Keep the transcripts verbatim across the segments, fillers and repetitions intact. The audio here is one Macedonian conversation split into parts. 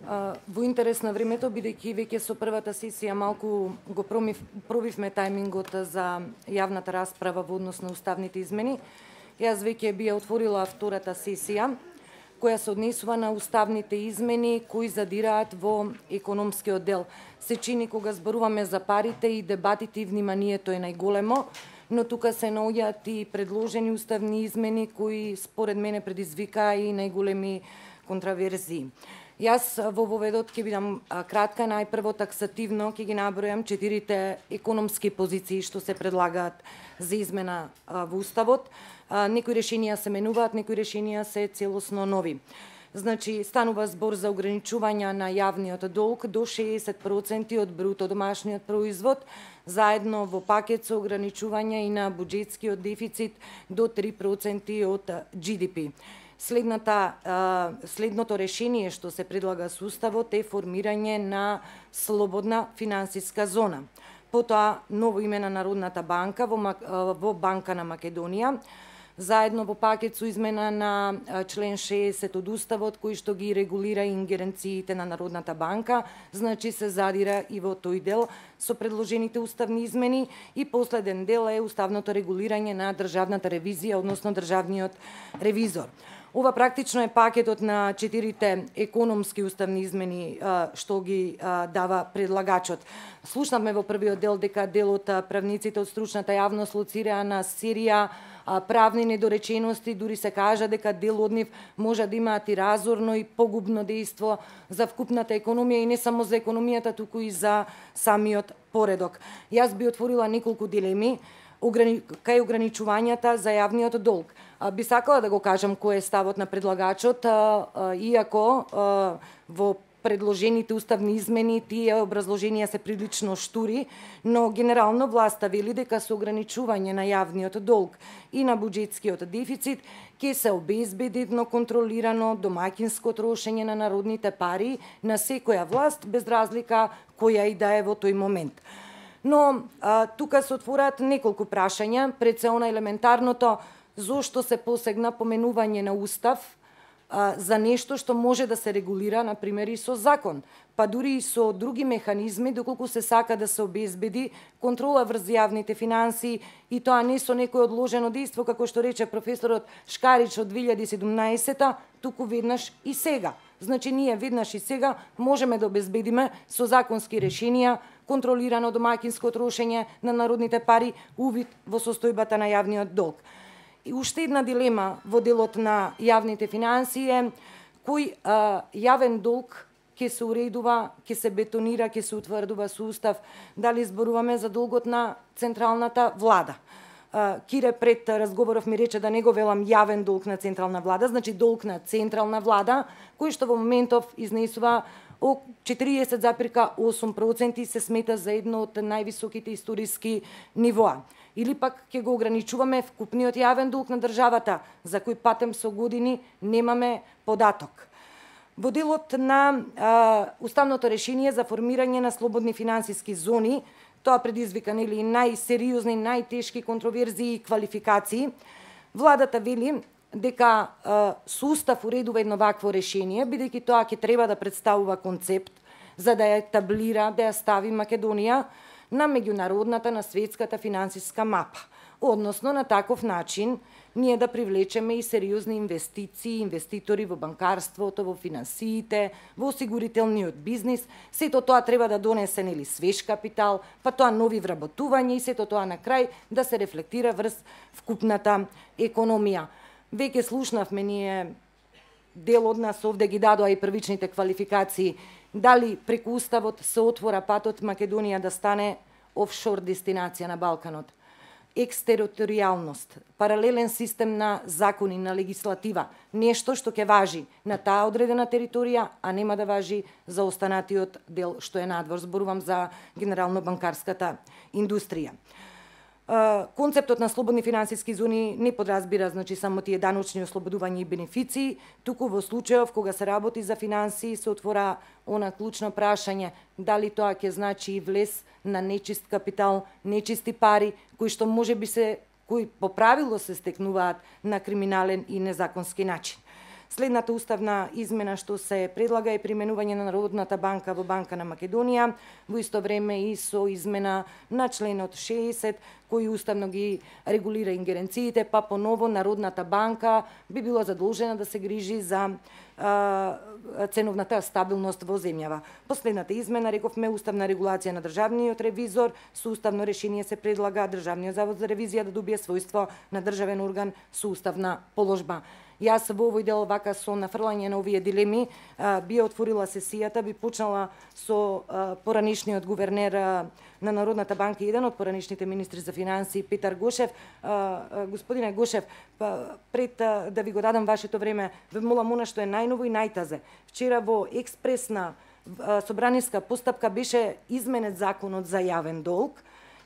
Во интерес на времето, бидејќи веќе со првата сесија малку го промив, пробивме тајмингот за јавната расправа во однос на уставните измени, јас веќе би ја отворила втората сесија, која се однесува на уставните измени кои задираат во економскиот дел. Се чини кога зборуваме за парите и дебатите и вниманието е најголемо, но тука се наоѓаат и предложени уставни измени кои според мене предизвикаа и најголеми контраверзии. Јас во воведот ќе бидам кратка, најпрво таксативно ќе ги набројам четирите економски позиции што се предлагаат за измена во Уставот. Некои решенија се менуваат, некои решенија се целосно нови. Значи, станува збор за ограничување на јавниот долг до шеесет проценти од бруто домашниот производ, заедно во пакет со ограничување и на буџетскиот дефицит до три проценти од Джи Ди Пи. Следната, следното решение што се предлага со Уставот е формирање на слободна финансиска зона. Потоа, ново име на Народната банка во, во Банка на Македонија, заедно во пакет со измена на член шеесет од Уставот, кој што ги регулира ингеренциите на Народната банка, значи се задира и во тој дел со предложените уставни измени, и последен дел е уставното регулирање на државната ревизија, односно државниот ревизор. Ова практично е пакетот на четирите економски уставни измени што ги дава предлагачот. Слушнавме во првиот дел дека дел од правниците од стручната јавност лоцираа на серија правни недоречености, дури се кажа дека дел од нив може да имаат и разорно и погубно дејство за вкупната економија, и не само за економијата, туку и за самиот поредок. Јас би отворила неколку дилеми кај ограничувањата за јавниот долг. Би сакала да го кажам кој е ставот на предлагачот, иако во предложените уставни измени тие образложенија се прилично штури, но генерално власта вели дека со ограничување на јавниот долг и на буџетскиот дефицит ќе се обезбеди едно контролирано домаќинско трошење на народните пари на секоја власт, без разлика која и да е во тој момент. Но а, тука се отвораат неколку прашања, пред се она елементарното, зошто се посегна поменување на Устав а, за нешто што може да се регулира, например, и со закон, па дури и со други механизми, доколку се сака да се обезбеди контрола врз јавните финансии, и тоа не со некој одложено дејство, како што рече професорот Шкарич од две илјади и седумнаесета, туку веднаш и сега. Значи, ние веднаш и сега можеме да обезбедиме со законски решенија контролирано домаќинско трошење на народните пари, увид во состојбата на јавниот долг. И уште една дилема во делот на јавните финансии е кој а, јавен долг ќе се уредува, ќе се бетонира, ќе се утврдува со Устав, дали зборуваме за долгот на централната влада. Кире пред разговоров ми рече да не го велам јавен долг на централна влада, значи долг на централна влада, кој што во моментов изнесува четириесет зарез и осум проценти, се смета за едно од највисоките историски нивоа. Или пак ќе го ограничуваме вкупниот јавен долг на државата, за кој патем со години немаме податок. Во делот на а, уставното решение за формирање на слободни финансиски зони, тоа предизвика нели најсериозни, најтешки контроверзии и квалификации. Владата вели дека а, со Устав уредува едно вакво решение, бидејќи тоа ќе треба да представува концепт за да ја етаблира, да ја стави Македонија на меѓународната, на светската финансиска мапа. Односно, на таков начин ние да привлечеме и сериозни инвестиции, инвеститори во банкарството, во финансиите, во осигурителниот бизнис. Сето тоа треба да донесе нели свеж капитал, па тоа нови вработувања, и сето тоа на крај да се рефлектира врз вкупната економија. Веќе слушнавме ние, дел од нас овде ги дадоа и првичните квалификации, дали преку Уставот се отвора патот Македонија да стане офшор дестинација на Балканот. Екстериторијалност, паралелен систем на закони, на легислатива, нешто што ќе важи на таа одредена територија, а нема да важи за останатиот дел што е надвор. Зборувам за генерално банкарската индустрија. Концептот на слободни финансиски зони не подразбира значи само тие даночни ослободувања и бенефиции, туку во случајов кога се работи за финансии се отвора она клучно прашање дали тоа ќе значи и влез на нечист капитал, нечисти пари кои што можеби се кои по правило се стекнуваат на криминален и незаконски начин. Следната уставна измена што се предлага е применување на Народната банка во Банка на Македонија, во исто време и со измена на членот шеесет, кој уставно ги регулира ингеренциите, па поново Народната банка би била задолжена да се грижи за а, ценовната стабилност во земјава. Последната измена, рековме, уставна регулација на државниот ревизор, со уставно решение се предлага Државниот завод за ревизија да добие својство на државен орган со уставна положба. Јас во овој дел вака со нафрлање на овие дилеми би отворила сесијата, би почнала со поранишниот гувернер на Народната банка, еден од поранишните министри за финансии, Петар Гошев. Господине Гошев, пред да ви го дадам вашето време, ве молам она што е најново и најтазе. Вчера во експресна собраниска постапка беше изменет законот за јавен долг,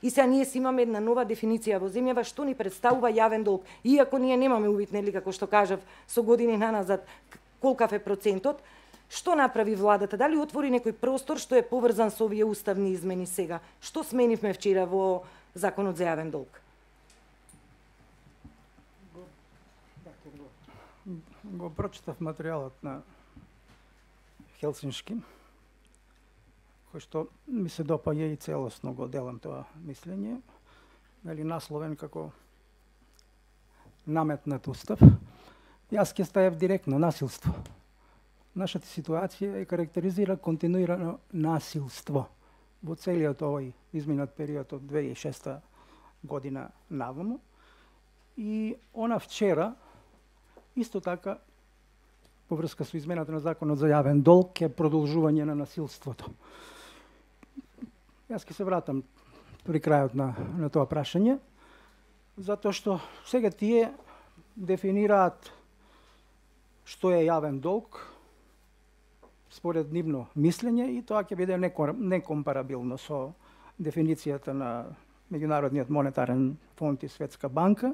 и сега ние си имаме една нова дефиниција во земјава што ни представува јавен долг. Иако ние немаме увид, нели, како што кажав, со години наназад колкав е процентот, што направи владата? Дали отвори некој простор што е поврзан со овие уставни измени сега? Што сменивме вчера во законот за јавен долг? Го прочитав материјалот на Хелсиншки, кој што ми се допаѓа и целосно го делам тоа мислење, нели насловен како наметнат устав. Јас ќе ставев директно насилство. Нашата ситуација е карактеризира континуирано насилство во целиот овој изминат период од две илјади и шеста година наваму. И она вчера исто така по врска со измената на законот за јавен долг е продолжување на насилството. Јас ќе се вратам при крајот на, на тоа прашање, затоа што сега тие дефинираат што е јавен долг според нивно мислење и тоа ќе биде некомпарабилно со дефиницијата на Меѓународниот монетарен фонд и Светска банка,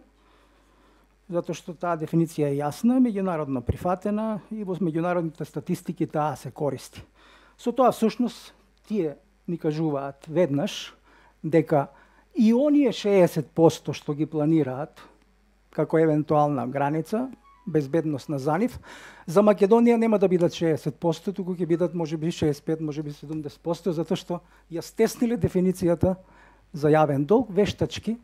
затоа што таа дефиниција е јасна, меѓународно прифатена и во меѓународните статистики таа се користи. Со тоа всушност тие ни кажуваат веднаш дека и оние шеесет проценти што ги планираат како евентуална граница, безбедност на за нив, за Македонија нема да бидат шеесет проценти, туку ќе бидат можеби шеесет и пет, можеби седумдесет проценти, затоа што ја стесниле дефиницијата за јавен долг, вештачки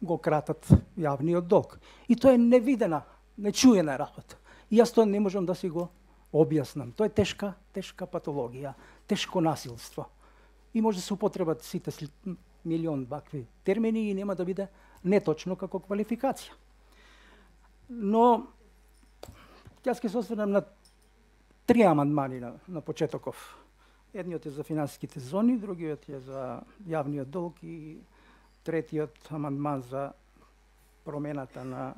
го кратат јавниот долг. И тоа е невидена, нечуена работа. И јас тоа не можам да си го објаснам. Тоа е тешка, тешка патологија, тешко насилство. И може да се употребат сите милион вакви термини и нема да биде неточно како квалификација. Но јас ќе се осврнам на три амандмани на, на почетоков. Едниот е за финансиските зони, другиот е за јавниот долг и третиот амандман за промената на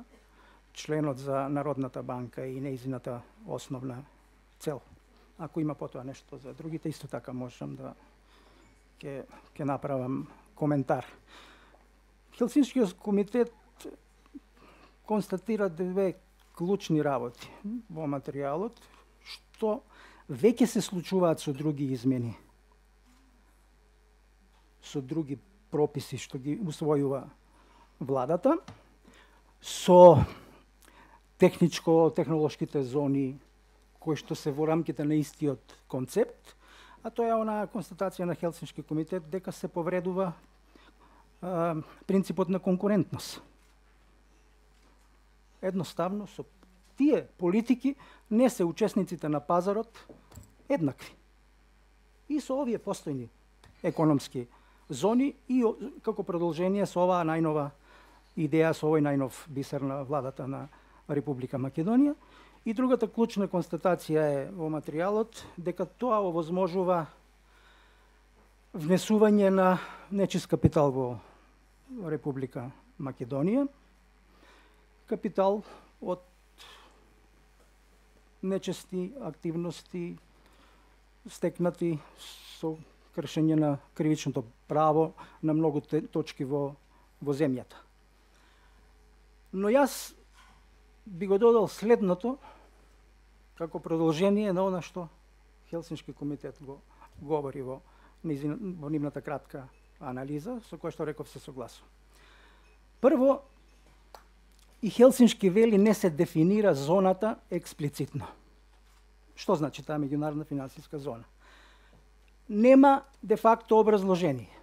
членот за Народната банка и нејзината основна цел. Ако има потоа нешто за другите, исто така можам да ќе ќе направам коментар. Хелсиншкиот комитет констатира две клучни работи во материјалот, што веќе се случуваат со други измени, со други прописи што ги усвојува владата, со техничко-технолошките зони кои што се во рамките на истиот концепт, а тоа е онаа констатација на Хелсиншки комитет дека се повредува а, принципот на конкурентност. Едноставно со тие политики не се учесниците на пазарот еднакви. И со овие постојни економски зони и како продолжение со оваа најнова идеја, со овој најнов бисер на владата на Република Македонија. И другата клучна констатација е во материјалот дека тоа овозможува внесување на нечист капитал во Република Македонија, капитал од нечести активности стекнати со кршење на кривичното право на многу точки во, во земјата. Но јас би го додал следното како продолжение на она што Хелсиншки комитет го говори во, во нивната кратка анализа, со која што реков се согласувам. Прво, и Хелсиншки вели не се дефинира зоната експлицитно. Што значи таа меѓународна финансиска зона? Нема де факто образложение.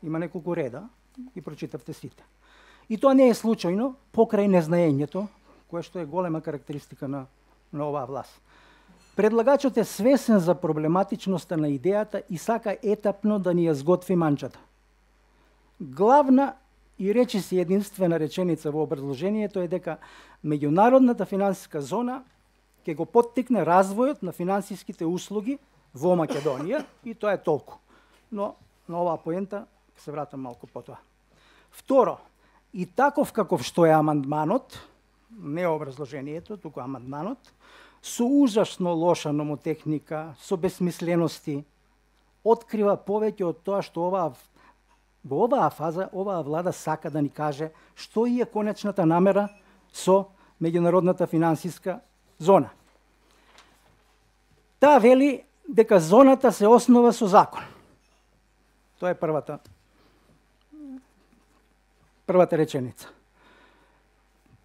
Има неколку реда и прочитавте сите. И тоа не е случајно покрај незнаењето, кое што е голема карактеристика на, на оваа власт. Предлагачот е свесен за проблематичноста на идејата и сака етапно да ни ја сготви манчата. Главна и речиси единствена реченица во образложението е дека меѓународната финансиска зона ќе го поттикне развојот на финансиските услуги во Македонија и тоа е толку. Но на оваа поента ќе се вратам малку потоа. Второ, и таков каков што е амандманот, не образложението, туку амандманот, со ужасно лоша номотехника, со бесмислености, открива повеќе од тоа што оваа во оваа фаза оваа влада сака да ни каже што е конечната намера со меѓународната финансиска зона. Таа вели дека зоната се основа со закон. Тоа е првата првата реченица.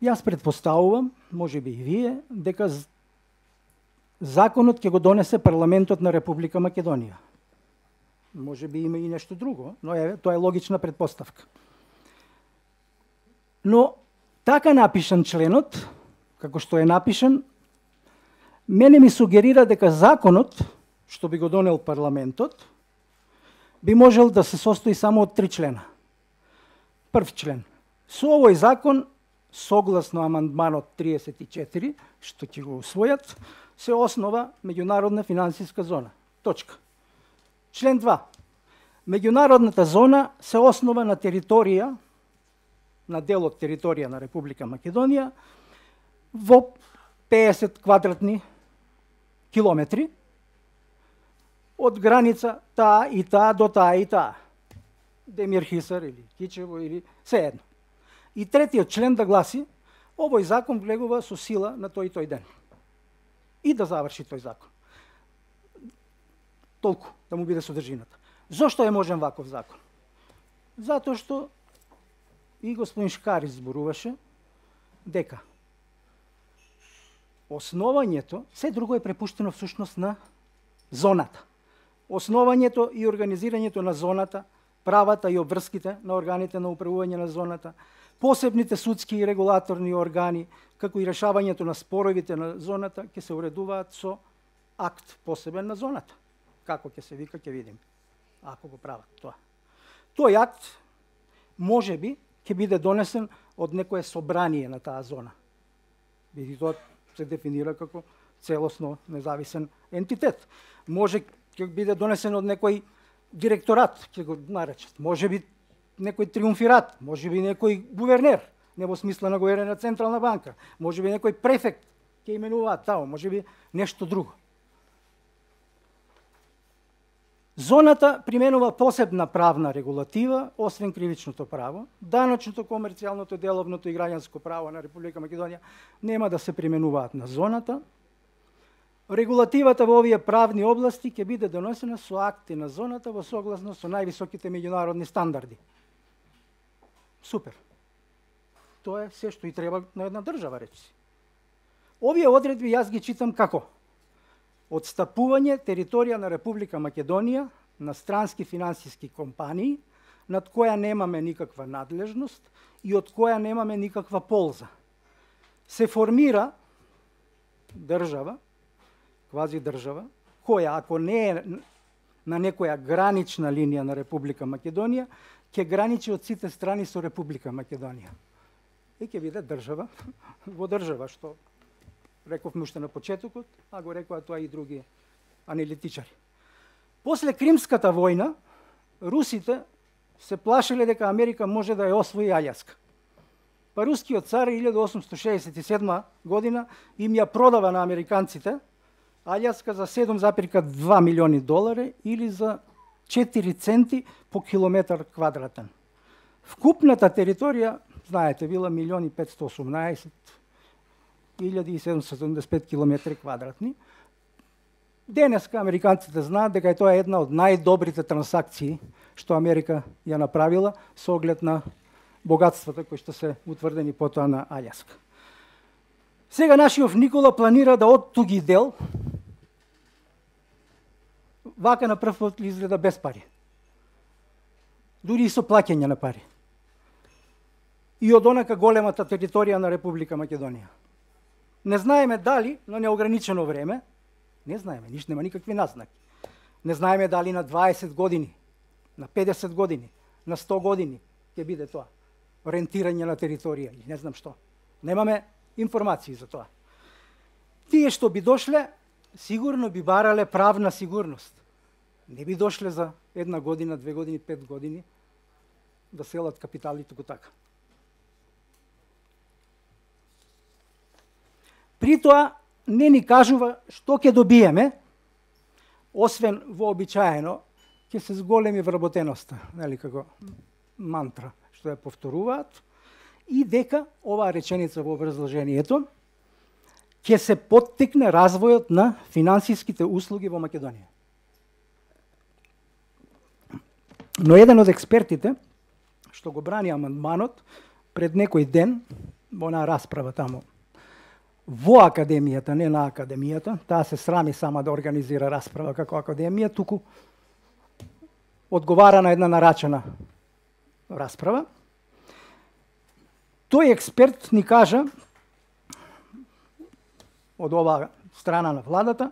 Јас предпоставувам, можеби и вие, дека законот ќе го донесе парламентот на Република Македонија. Можеби има и нешто друго, но е, тоа е логична предпоставка. Но така напишан членот, како што е напишан, мене ми сугерира дека законот, што би го донел парламентот, би можел да се состои само од три члена. Прв член. Со овој закон, согласно амандманот триесет и четири, што ќе го усвојат, се основа меѓународна финансиска зона. Точка. Член два. Меѓународната зона се основа на територија, на дел од територија на Република Македонија, во пеесет квадратни километри, од граница таа и таа до таа и таа. Демир Хисар или Кичево или сеедно. И третиот член да гласи, овој закон влегува со сила на тој и тој ден. И да заврши тој закон. Толку да му биде содржината. Зошто е можен ваков закон? Затоа што и господин Шкар изборуваше дека основањето, се друго е препуштено всушност на зоната. Основањето и организирањето на зоната, правата и обврските на органите на управување на зоната, посебните судски и регулаторни органи, како и решавањето на споровите на зоната, ќе се уредуваат со акт посебен на зоната. Како ќе се вика, ќе видим, ако го прават тоа. Тој акт, може би, ќе биде донесен од некое собрание на таа зона. Биде тоа се дефинира како целосно независен ентитет. Може ќе биде донесен од некој директорат, ќе го наречат. Може би некој триумфират, може би некој гувернер, не во смисла на гувернер на Централна банка, може би некој префект ќе именуваат тамо, може би нешто друго. Зоната применува посебна правна регулатива, освен кривичното право, даночното, комерцијалното, деловното и граѓанско право на Република Македонија нема да се применуваат на зоната. Регулативата во овие правни области ќе биде донесена со акти на зоната во согласност со највисоките меѓународни стандарди. Супер. Тоа е се што и треба на една држава, речи. Овие одредби јас ги читам како отстапување територија на Република Македонија на странски финансиски компании, над која немаме никаква надлежност и од која немаме никаква полза. Се формира држава, квази држава, која ако не е на некоја гранична линија на Република Македонија, ќе граничи од сите страни со Република Македонија. И ќе биде држава во држава, што рековме уште на почетокот, а го рекоа тоа и други аналитичари. После Кримската војна, русите се плашеле дека Америка може да ја освои Аљаска. Па рускиот цар илјадум осумстотини шеесет и седма година им ја продава на американците Аљаска за седум запирка два милиони долари или за четири центи по километар квадратен. Вкупната територија, знаете, била милион и петстотини и осумнаесет илјади и седумстотини седумдесет и пет километри квадратни. Денеска американците знаат дека е тоа една од најдобрите трансакции што Америка ја направила со оглед на богатствата кои што се утврдени потоа на Аљаска. Сега нашиот Никола планира да оттуги дел, вака на прв пат изгледа без пари. Дури и со плаќање на пари. И од онака големата територија на Република Македонија. Не знаеме дали на неограничено време, не знаеме, ништо нема никакви назнаки. Не знаеме дали на дваесет години, на педесет години, на сто години ќе биде тоа. Ориентирање на територија, не знам што. Немаме информации за тоа. Тие што би дошле, сигурно би барале правна сигурност. Не би дошле за една година, две години, пет години да селат капитали туку така. При тоа не ни кажува што ќе добиеме, освен вообичаено, ќе се зголеми вработеноста, нели како мантра, што ја повторуваат, и дека оваа реченица во образложението ќе се поттикне развојот на финансиските услуги во Македонија. Но еден од експертите, што го брани амандманот, пред некој ден, во онаа расправа тамо, во академијата, не на академијата, таа се срами сама да организира расправа како академија, туку одговара на една нарачена расправа. Тој експерт ни кажа, од оваа страна на владата,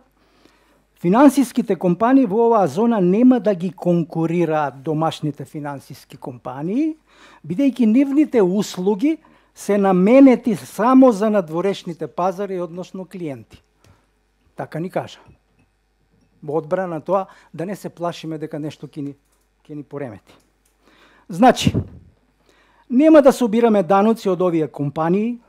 финансиските компании во оваа зона нема да ги конкурираат домашните финансиски компании, бидејќи нивните услуги се наменети само за надворешните пазари, односно клиенти. Така ни кажа. Во одбрана тоа да не се плашиме дека нешто ќе ни, ќе ни поремети. Значи, нема да собираме даноци од овие компании,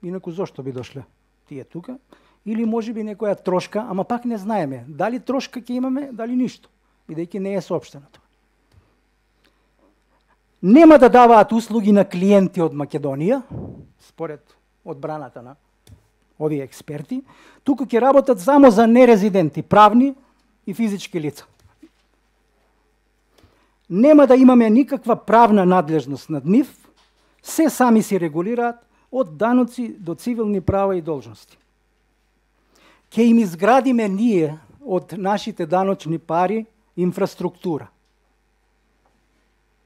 инаку зошто би дошле тие тука, или можеби некоја трошка, ама пак не знаеме дали трошка ќе имаме, дали ништо, бидејќи не е соопштено тоа. Нема да даваат услуги на клиенти од Македонија, според одбраната на овие експерти, туку ќе работат само за нерезиденти, правни и физички лица. Нема да имаме никаква правна надлежност над нив, се сами си регулираат од даноци до цивилни права и должности. Ке им изградиме ние од нашите даночни пари инфраструктура.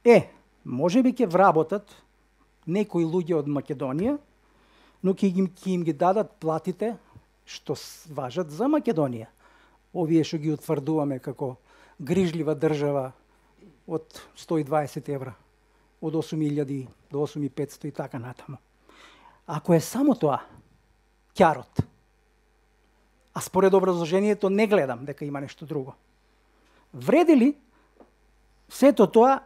Е, може би ќе вработат некои луѓе од Македонија, но ќе им, ќе им ги дадат платите што важат за Македонија. Овие што ги утврдуваме како грижлива држава од сто и дваесет евра, од осум илјади до осум и петсто и така натаму. Ако е само тоа, ќарот, а според образложението не гледам дека има нешто друго, вреди ли сето тоа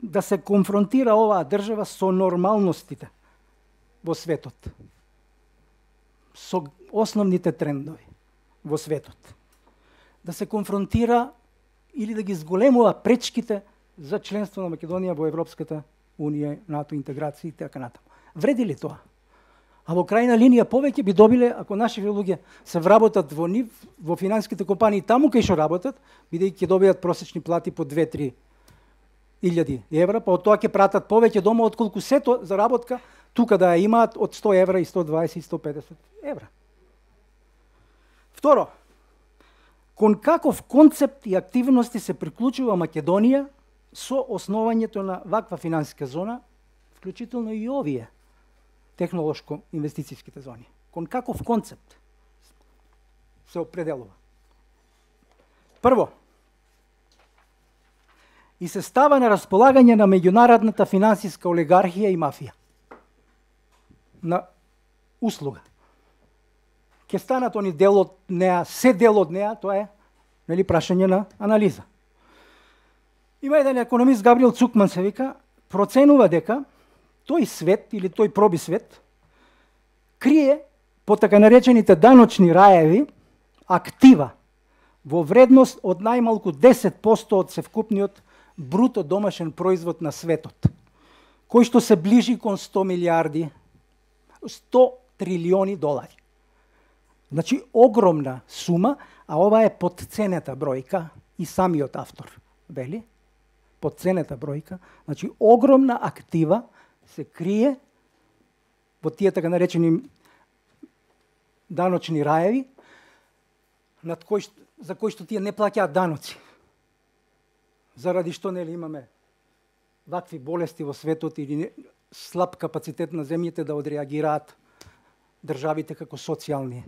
да се конфронтира оваа држава со нормалностите во светот, со основните трендови во светот, да се конфронтира или да ги зголемува пречките за членство на Македонија во Европската Унија, НАТО интеграција и така натаму. Вреди ли тоа? А во крајна линија повеќе би добиле ако нашите луѓе се вработат во нив, во финансиските компании таму кај што работат, бидејќи ќе добијат просечни плати по две-три илјади евра, па од тоа ќе пратат повеќе дома отколку сето заработка тука да ја имаат од сто евра и сто дваесет и сто педесет евра. Второ, кон каков концепт и активности се приклучува Македонија со основањето на ваква финансиска зона, вклучително и овие технолошко-инвестицијските зони. Кон каков концепт се определува? Прво, и се става на располагање на меѓународната финансиска олигархија и мафија. На услуга. Ке станат они дел од неа, се дел од неа, тоа е нели прашање на анализа. Има еден економист, Габриел Цукман се вика, проценува дека тој свет или тој проби свет крие по така наречените даночни раеви актива во вредност од најмалку десет посто од севкупниот бруто домашен производ на светот, кој што се ближи кон сто милиарди, сто трилиони долари. Значи, огромна сума, а ова е подценета бројка и самиот автор, вели? Подценета бројка, значи огромна актива се крие во тие така наречени даночни раеви, над кои, за кои што тие не плаќаат даноци. Заради што нели имаме вакви болести во светот или не, слаб капацитет на земјите да одреагираат државите како социјални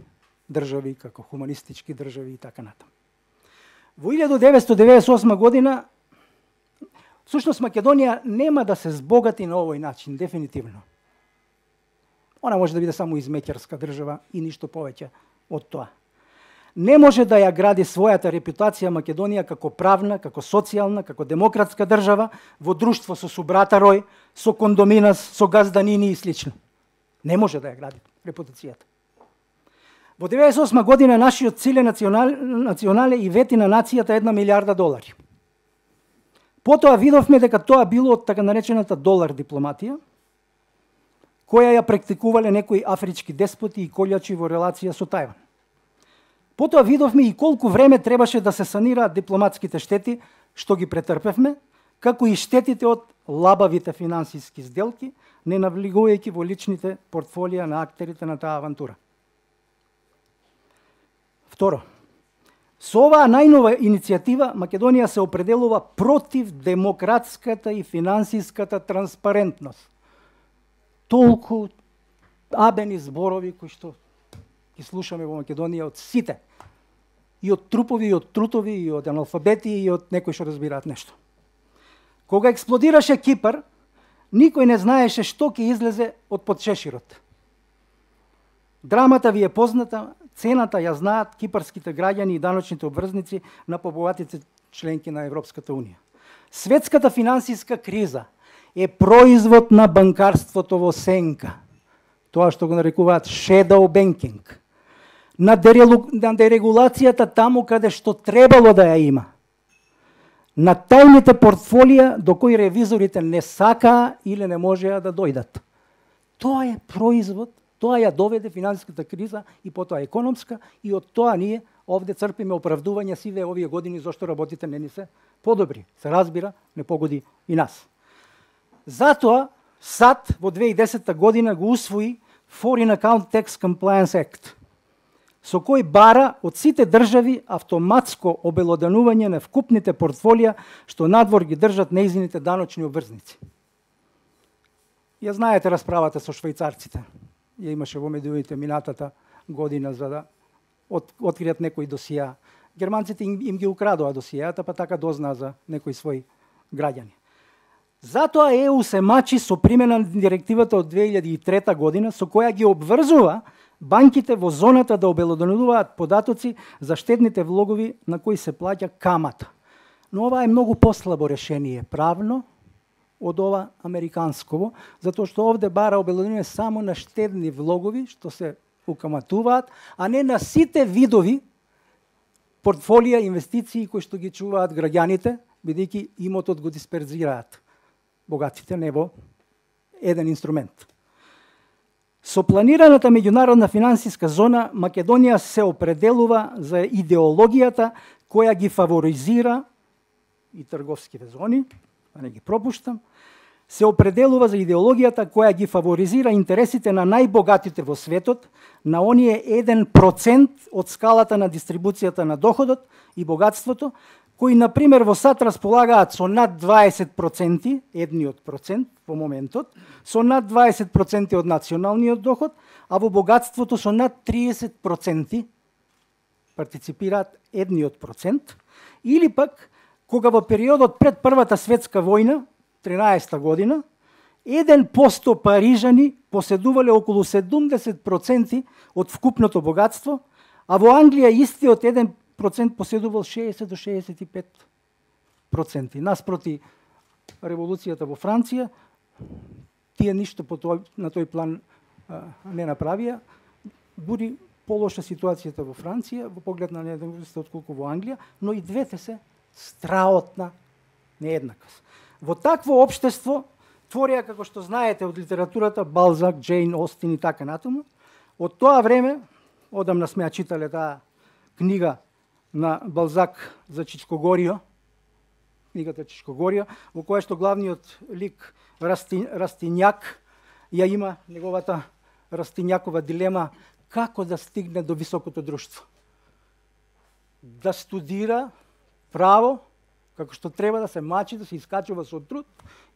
држави, како хуманистички држави и така натаму. Во илјадум деветстотини деветдесет и осма година, всушност Македонија нема да се збогати на овој начин, дефинитивно. Она може да биде само измеќарска држава и ништо повеќе од тоа. Не може да ја гради својата репутација Македонија како правна, како социјална, како демократска држава во друштво со субрата рој, со кондоминас, со газданини и слично. Не може да ја гради репутацијата. Во деветдесет и осма година нашиот циле национал, национале и вети на нацијата една милиарда долари. Потоа видовме дека тоа било од така наречената долар дипломатија, која ја практикувале некои афрички деспоти и колјачи во релација со Тајван. Потоа видовме и колку време требаше да се санираат дипломатските штети, што ги претрпевме, како и штетите од лабавите финансиски сделки, не навлегувајќи во личните портфолија на актерите на таа авантура. Второ, со оваа најнова иницијатива Македонија се определува против демократската и финансиската транспарентност. Толку абени зборови кои што ги слушаме во Македонија од сите. И од трупови, и од трутови, и од аналфабети, и од некои што разбираат нешто. Кога експлодираше Кипар, никој не знаеше што ќе излезе од подшеширот. Драмата ви е позната, цената ја знаат кипарските граѓани и даночните обврзници на побогатите членки на Европската Унија. Светската финансиска криза е производ на банкарството во сенка. Тоа што го нарекуваат shadow banking. На, дерелу, на дерегулацијата таму каде што требало да ја има. На тајните портфолија до кои ревизорите не сакаа или не можеа да дојдат. Тоа е производ, тоа ја доведе финансиската криза и потоа економска, и од тоа ние овде црпиме оправдување сиве овие години зашто работите не ни се подобри. Се разбира, не погоди и нас. Затоа САД во две илјади и десета година го усвои Foreign Account Tax Compliance Act, со кој бара од сите држави автоматско обелоданување на вкупните портфолија што надвор ги држат нејзините даночни обврзници. Ја знаете расправата со швајцарците. Ја имаше во медиумите минатата година за да от, откријат некои досија. Германците им, им ги украдоа досијата, па така дознаа за некои своји граѓани. Затоа Е У се мачи со примена на директивата од две илјади и трета година, со која ги обврзува банките во зоната да обелоденуваат податоци за штедните влогови на кои се плаќа камата. Но ова е многу послабо решение правно од ова американсково, затоа што овде бара обелоденување само на штедни влогови што се укаматуваат, а не на сите видови портфолија инвестиции кои што ги чуваат граѓаните, бидејќи имотот го дисперзираат богатите не во еден инструмент. Со планираната меѓународна финансиска зона, Македонија се определува за идеологијата која ги фаворизира и трговските зони, да не ги пропуштам, се определува за идеологијата која ги фаворизира интересите на најбогатите во светот, на оние еден процент од скалата на дистрибуцијата на доходот и богатството, кои, например, во САД располагаат со над дваесет проценти, едниот процент во моментот, со над дваесет проценти од националниот доход, а во богатството со над триесет проценти партиципираат едниот процент, или пак, кога во периодот пред Првата светска војна, тринаесета година, еден посто парижани поседувале околу седумдесет проценти од вкупното богатство, а во Англија истиот еден процент поседувал шеесет до шеесет и пет проценти. Наспроти револуцијата во Франција, тие ништо по тој, на тој план а, не направија. Буди полоша ситуацијата во Франција, во поглед на нееднаквост отколку во Англија, но и двете се страотна нееднаквост. Во такво општество творија, како што знаете од литературата, Балзак, Джейн Остин и така натаму. Од тоа време, одамна сме ја читале таа книга на Балзак за Чичкогорио, книгата Чичкогорио, во која што главниот лик Расти, Растињак ја има неговата Растињакова дилема како да стигне до високото друштво. Да студира право, како што треба да се мачи, да се искачува со труд,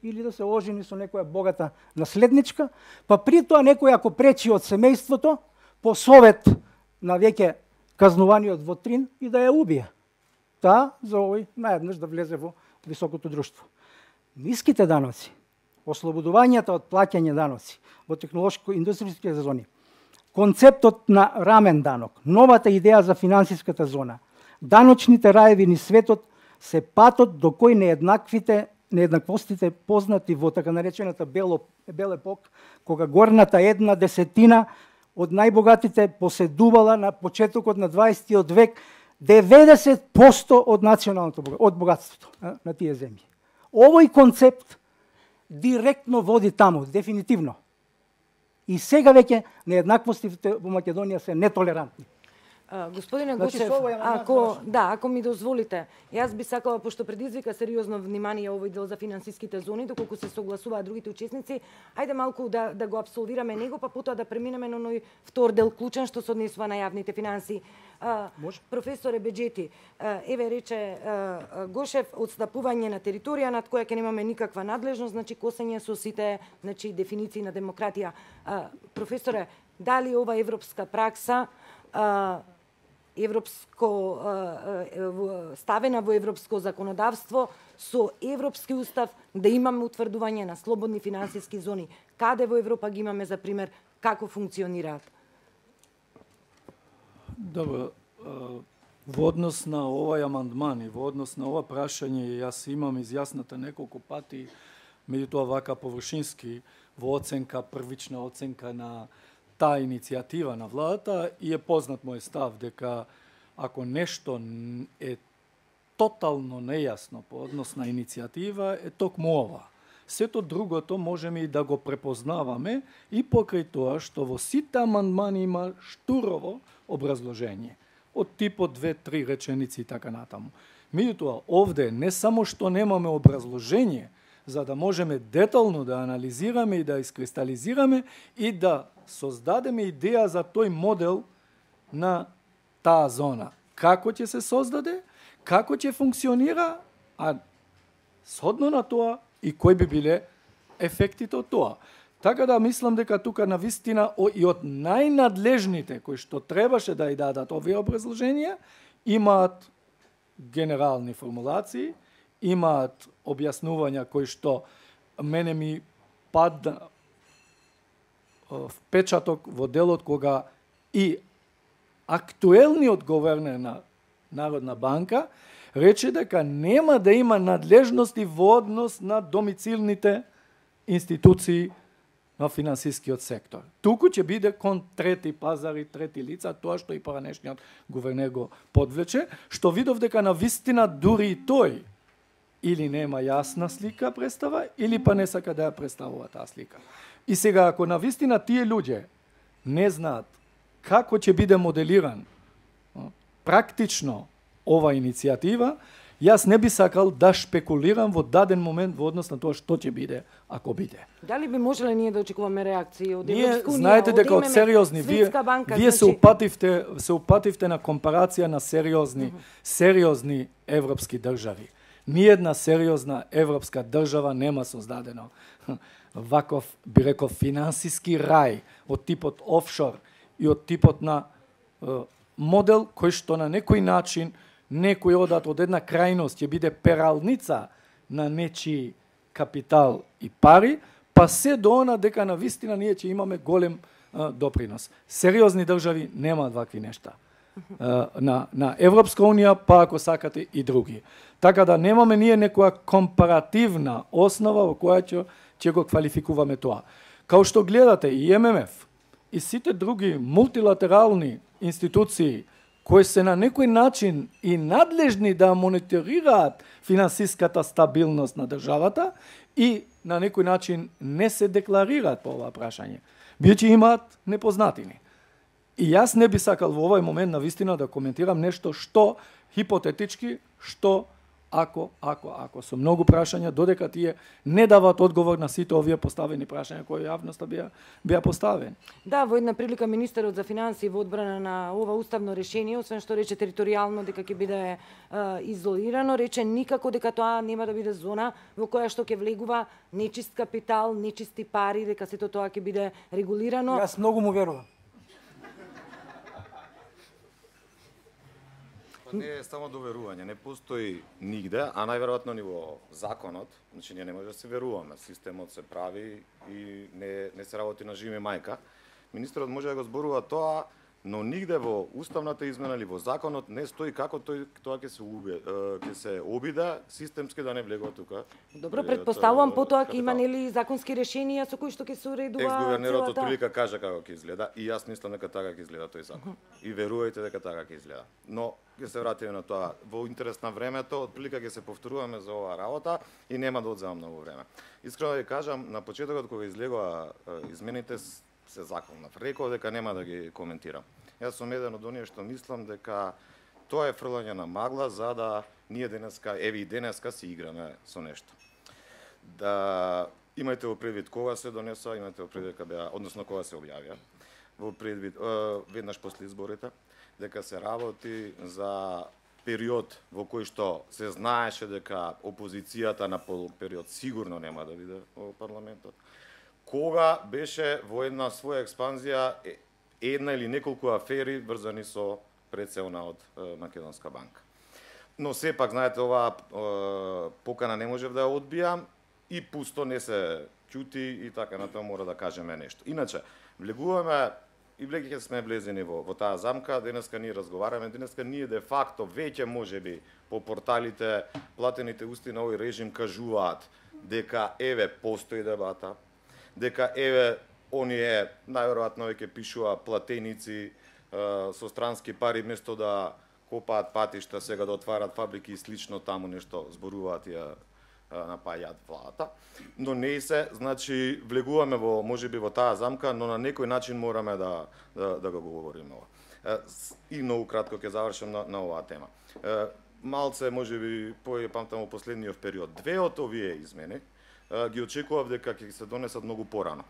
или да се ожени со некоја богата наследничка, па при тоа некој ако пречи од семејството, по совет на веќе казнуваниот во Трин и да ја убие. Таа за овој наеднаш да влезе во високото друштво. Ниските даноци, ослободувањата од плаќање даноци во технолошко-индустријските зони, концептот на рамен данок, новата идеја за финансиската зона, даночните раеви низ светот се патот до кој нееднаквите нееднаквостите познати во така наречената бел, бел епок, кога горната една десетина од најбогатите поседувала на почетокот на дваесеттиот век деветдесет проценти од националното од богатството на тие земји. Овој концепт директно води таму, дефинитивно. И сега веќе нееднаквостите во Македонија се нетолерантни. Uh, господине Значи, Гочев, со овој амандман, ако да, ако ми дозволите, јас би сакала, пошто предизвика сериозно внимание овој дел за финансиските зони, доколку се согласуваат другите учесници, ајде малку да да го апсолвираме него, па потоа да преминеме на оној втор дел клучен што се однесува на јавните финансии. Uh, професоре Беџети, uh, еве рече uh, Гошев, отстапување на територија над која ќе немаме никаква надлежност, значи косење со сите, значи дефиниции на демократија. Uh, професоре, дали ова европска пракса uh, европско ставена во европско законодавство со европски устав да имаме утврдување на слободни финансиски зони. Каде во Европа ги имаме за пример, како функционираат? Добро, во однос на овој амандман и во однос на ова прашање, јас имам изјасната неколку пати, меѓутоа вака површински во оценка, првична оценка на таа иницијатива на владата, и е познат мој став дека ако нешто е тотално нејасно по однос на иницијатива, е токму ова. Сето другото можеме и да го препознаваме и покрај тоа што во сите амандмани има штурово образложение од типот две-три реченици и така натаму. Меѓутоа, овде не само што немаме образложение, за да можеме детално да анализираме и да искристализираме и да создадеме идеја за тој модел на таа зона. Како ќе се создаде, како ќе функционира, а сhodно на тоа и кои би биле ефектите од тоа. Така да мислам дека тука на вистина и од најнадлежните кои што требаше да ја дадат овие образложенија, имаат генерални формулации, имаат објаснувања кои што мене ми падна впечаток во делот кога и актуелниот говернер на Народна банка рече дека нема да има надлежности во однос на домицилните институции на финансискиот сектор. Туку ќе биде кон трети пазари, трети лица, тоа што и поранешниот гувернер го подвлече, што видов дека на вистина дури и тој или нема јасна слика представа, или па не сака да ја представува таа слика. И сега, ако на вистина тие луѓе не знаат како ќе биде моделиран практично ова иницијатива, јас не би сакал да шпекулирам во даден момент во однос на тоа што ќе биде, ако биде. Дали би можеле ние да очекуваме реакции од ние, Европска унија? Знаете дека од сериозни, вие, банка, вие значи... се упативте, се упативте на компарација на сериозни, uh -huh. сериозни европски држави. Ниједна сериозна европска држава нема создадено ваков, би рекол, финансиски рај од типот офшор и од типот на е, модел кој што на некој начин некој одат од една крајност ќе биде пералница на нечи капитал и пари, па се до она дека на вистина ние ќе имаме голем е, допринос. Сериозни држави немаат вакви нешта. Е, на, на Европска унија, па ако сакате и други. Така да немаме ние некоја компаративна основа во која ќе, ќе го квалификуваме тоа. Као што гледате и Ем Ем Еф и сите други мултилатерални институции кои се на некој начин и надлежни да мониторираат финансиската стабилност на државата и на некој начин не се декларираат по ова прашање, бијќи имаат непознатини. И јас не би сакал во овој момент на вистина да коментирам нешто што хипотетички, што ако, ако, ако со многу прашања, додека тие не дават одговор на сите овие поставени прашања кои јавноста беа беа поставени. Да, во една прилика министерот за финансии во одбрана на ова уставно решение, освен што рече територијално дека ќе биде е, изолирано, рече никако дека тоа нема да биде зона во која што ќе влегува нечист капитал, нечисти пари, дека сето тоа ќе биде регулирано. Јас многу му верувам. Не е само доверување, не постои нигде, а најверојатно ни во законот, значи ние не може да се веруваме, системот се прави и не, не се работи на жими мајка. Министерот може да го зборува тоа, но нигде во уставната измена или во законот не стои како тој тоа ќе се уби, ќе се обиде системски да не влегува тука. Добро, претпоставувам потоа ќе има нели законски решенија со кои што ќе се уредува Екс-гувернерот целата... отприлика кажа како ќе изгледа и јас мислам дека така ќе изгледа тој закон. И верувајте дека така ќе изгледа. Но ќе се вратиме на тоа. Во интерес на времето, отприлика ќе се повторуваме за оваа работа и нема да одземам многу време. Искрено да ви кажам, на почетокот кога излегоа измените се законов, реков дека нема да ги коментирам. Јас сум еден од оние што мислам дека тоа е фрлање на магла за да ние денеска, еви и денеска си играме со нешто. Да имајте во предвид кога се донеса, имајте во предвид кога беа, односно кога се објавија. Во предвид е, веднаш после изборите дека се работи за период во кој што се знаеше дека опозицијата на полуг период сигурно нема да биде во парламентот. Кога беше во една своја експанзија една или неколку афери врзани со прецелна од Македонска банка. Но сепак, знаете, оваа покана не можев да ја одбијам и пусто не се ќути и така на тоа мора да кажеме нешто. Иначе, влегуваме и влеќе сме влезени во, во таа замка, денеска ние разговараме, денеска ние де факто веќе можеби по порталите платените усти на овој режим кажуваат дека еве постои дебата, дека еве оние најверојатно веќе пишува платеници е, со странски пари место да копаат патишта, сега да отварат фабрики и слично таму нешто зборуваат и ја напајаат владата. Но не се, значи влегуваме во можеби во таа замка, но на некој начин мораме да да, да го говориме ова. И многу кратко ќе завршам на, на оваа тема. Малце можеби пој памтам во последниот период две од овие измени ги очекував дека ќе се донесат многу порано.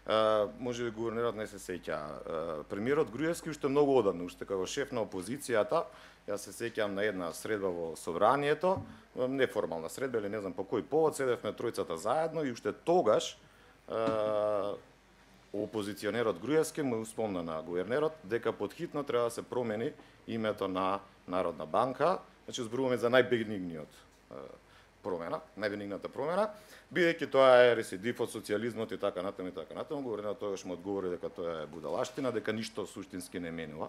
Uh, може би гувернерот не се сеќа. Uh, премиерот Груевски уште многу одамна, уште како шеф на опозицијата, јас се сеќам на една средба во собранието, неформална средба или не знам по кој повод, седевме тројцата заедно и уште тогаш uh, опозиционерот Груевски му спомна на гувернерот дека подхитно треба да се промени името на Народна банка, значи зборуваме за најбенигниот uh, промена, најбенигната промена, бидејќи тоа е рецидив од социјализмот и така натаму и така натаму, гувернерот тогаш му одговори дека тоа е будалаштина, дека ништо суштински не менува.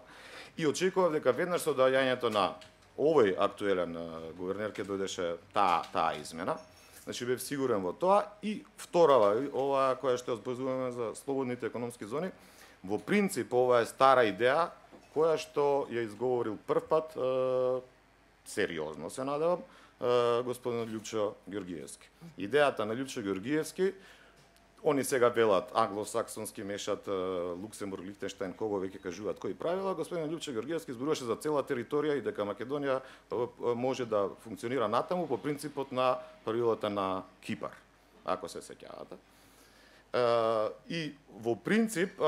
И очекував дека веднаш со доаѓањето на овој актуелен гувернер ќе дојдеше таа таа измена. Значи бев сигурен во тоа и вторава ова која што зборуваме за слободните економски зони, во принцип ова е стара идеја која што ја изговорил првпат е, сериозно се надевам господин Љупчо Ѓоргиевски. Идејата на Љупчо Ѓоргиевски, они сега велат англосаксонски, мешат Луксембург, Лихтенштајн, кого веќе кажуваат кои правила, господин Љупчо Ѓоргиевски зборуваше за цела територија и дека Македонија може да функционира натаму по принципот на правилата на Кипар, ако се сеќавате. И во принцип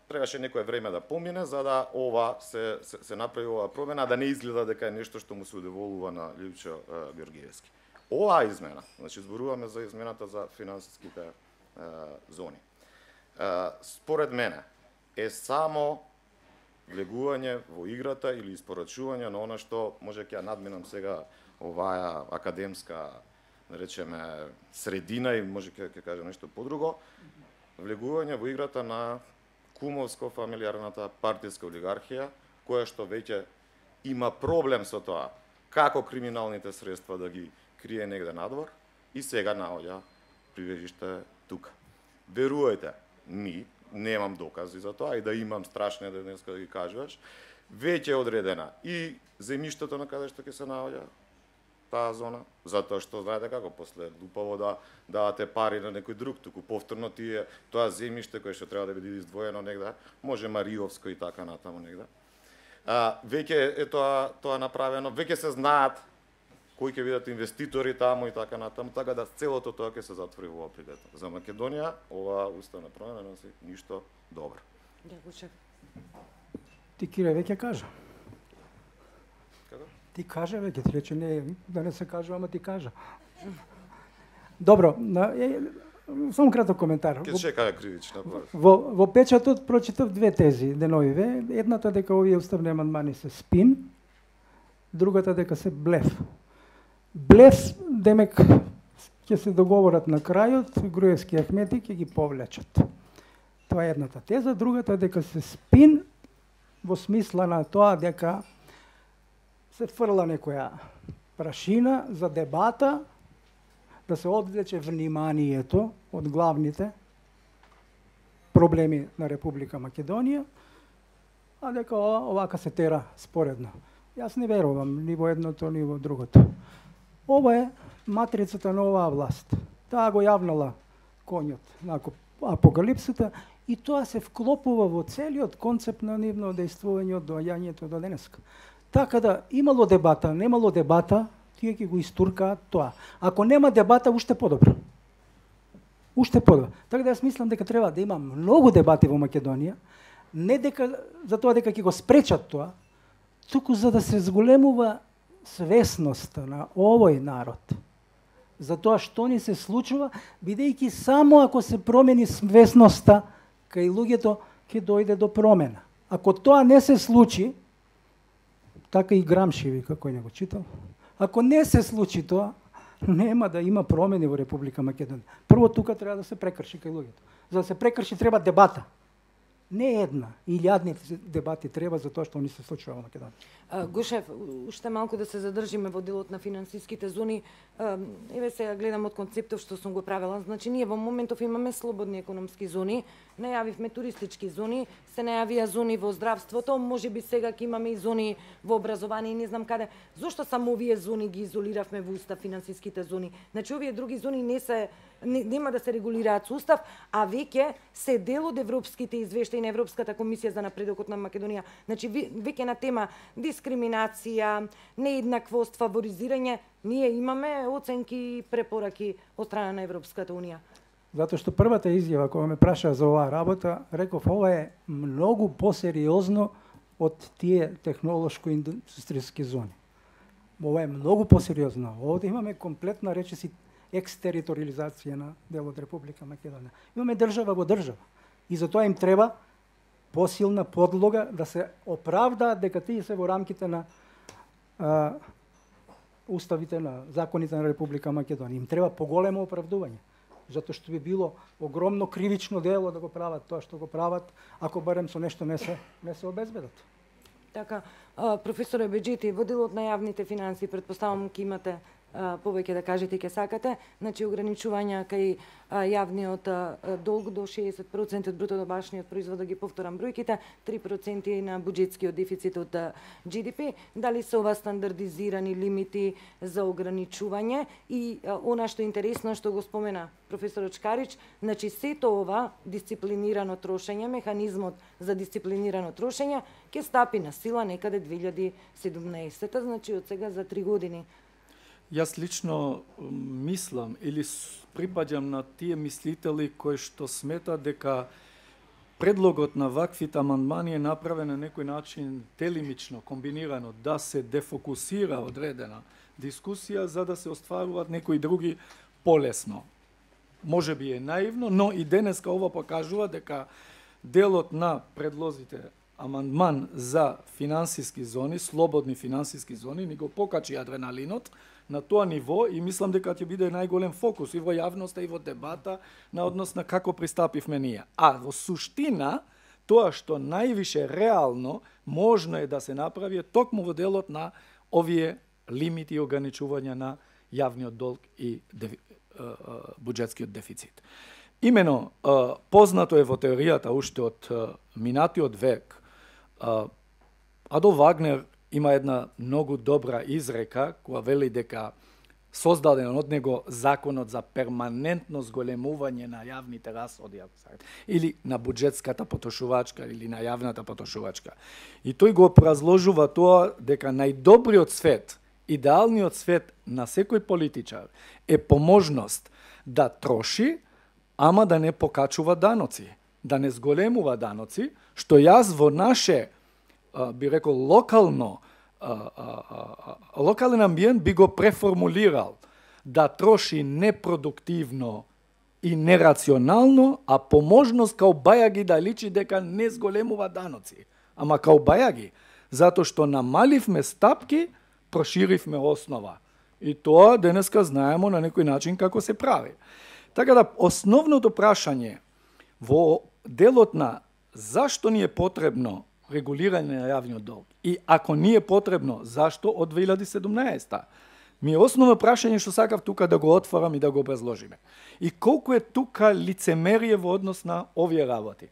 требаше некое време да помине за да ова се, се, се направи ова промена, да не изгледа дека е нешто што му се удоволува на Љупчо Ѓоргиевски. Оваа измена, значи зборуваме за измената за финансиските е, зони. Е, според мене е само влегување во играта или испорачување на она што може ќе ја надминам сега оваа академска, да речеме, средина и може ќе ќе кажам нешто подруго, влегување во играта на кумовско-фамилиарната партиска олигархија, која што веќе има проблем со тоа како криминалните средства да ги крие негде надвор и сега наоѓа прибежиште тука. Верувајте ми, немам докази за тоа и да имам страшно да денеска да ги кажуваш, веќе е одредена и земјиштето на каде што ќе се наоѓа таа зона, затоа што знаете како после лупаво да давате пари на некој друг, туку повторно тие тоа земјиште кое што треба да биде издвоено негде, може Мариовско и така натаму негде. А, веќе е тоа тоа направено, веќе се знаат кои ќе бидат инвеститори таму и така натаму, така да целото тоа ќе се затвори во ова прилета. За Македонија ова уставна промена носи ништо добро. Ти Кире веќе кажа. Како? Ти кажа веќе, ти рече не, да не се кажа, ама ти кажа. Добро, на, е, само краток коментар. Ке чека кривична. Во, во печатот прочитав две тези деновиве. Едната дека овие уставни амандмани се спин, другата дека се блеф. Блеф, демек, ќе се договорат на крајот, Груевски и Ахмети ќе ги повлечат. Тоа е едната теза, другата дека се спин во смисла на тоа дека се фрла некоја прашина за дебата, да се одвлече вниманието од главните проблеми на Република Македонија, а дека овака се тера споредно. Јас не верувам ни во едното, ни во другото. Ова е матрицата на оваа власт. Таа го јавнала коњот на апокалипсата и тоа се вклопува во целиот концепт на нивно дејствување од доаѓањето до денеска. Така да имало дебата, немало дебата, тие ќе го истуркаат тоа. Ако нема дебата, уште подобро. Уште подобро. Така да јас мислам дека треба да има многу дебати во Македонија, не дека за тоа дека ќе го спречат тоа, туку за да се зголемува свесноста на овој народ за тоа што ни се случува, бидејќи само ако се промени свесноста кај луѓето ќе дојде до промена. Ако тоа не се случи, така и Грамши вика, кој не го читал, ако не се случи тоа, нема да има промени во Република Македонија. Прво тука треба да се прекрши кај луѓето. За да се прекрши треба дебата. Не една, илјадни дебати треба за тоа што ни се случува во Македонија. Гушев, уште малку да се задржиме во делот на финансиските зони. Еве сега гледам од концептов што сум го правила. Значи ние во моментов имаме слободни економски зони, најавивме туристички зони, се најавија зони во здравството, можеби сега ќе имаме и зони во образование и не знам каде. Зошто само овие зони ги изолиравме во устав финансиските зони? Значи овие други зони не се не, нема да се регулираат со устав, а веќе се дел од европските извештаи на Европската комисија за напредокот на Македонија. Значи веќе на тема дискриминација, нееднаквост, фаворизирање, ние имаме оценки и препораки од страна на Европската унија. Затоа што првата изјава кога ме праша за оваа работа, реков ова е многу посериозно од тие технолошко-индустријски зони. Ова е многу посериозно. Овде имаме комплетна речиси екстериториализација на дел од Република Македонија. Имаме држава во држава. И затоа им треба посилна подлога да се оправдаат дека тие се во рамките на а, уставите на законите на Република Македонија. Им треба поголемо оправдување. Затоа што би било огромно кривично дело да го прават тоа што го прават, ако барем со нешто не се не се обезбедат. Така, професоре Беџити, во делот на јавните финансии, претпоставам ке имате повеќе да кажете и ке сакате, значи ограничувања кај јавниот долг до шеесет проценти од бруто домашниот производ, да ги повторам бројките, три проценти на буџетскиот дефицит од Джи Ди Пи, дали се ова стандардизирани лимити за ограничување и она што е интересно што го спомена професорот Шкарич, значи сето ова дисциплинирано трошење, механизмот за дисциплинирано трошење ќе стапи на сила некаде две илјади и седумнаесета, значи од сега за три години. Јас лично мислам или припаѓам на тие мислители кои што смета дека предлогот на ваквите амандмани е направен на некој начин телимично, комбинирано, да се дефокусира одредена дискусија за да се остваруваат некои други полесно. Може би е наивно, но и денеска ова покажува дека делот на предлозите амандман за финансиски зони, слободни финансиски зони, ни го покачи адреналинот на тоа ниво и мислам дека ќе биде најголем фокус и во јавноста и во дебата на однос на како пристапивме ние. А во суштина, тоа што највише реално можно е да се направи токму во делот на овие лимити и ограничувања на јавниот долг и дефи, буџетскиот дефицит. Имено, познато е во теоријата уште од минатиот век, Адолф Вагнер има една многу добра изрека која вели дека создаден од него законот за перманентно зголемување на јавните расходи, или на буџетската потрошувачка или на јавната потрошувачка. И тој го разложува тоа дека најдобриот свет Идеалниот свет на секој политичар е поможност да троши, ама да не покачува даноци, да не зголемува даноци, што јас во наше, би рекол, локално, локален амбиент би го преформулирал, да троши непродуктивно и нерационално, а поможност као бајаги да личи дека не зголемува даноци. Ама као бајаги, затоа што намаливме стапки, проширивме основа. И тоа денеска знаемо на некој начин како се прави. Така да, основното прашање во делот на зашто ни е потребно регулирање на јавниот долг и ако ни е потребно, зашто од две илјади и седумнаесета? Ми е основно прашање што сакав тука да го отворам и да го образложиме. И колку е тука лицемерие во однос на овие работи.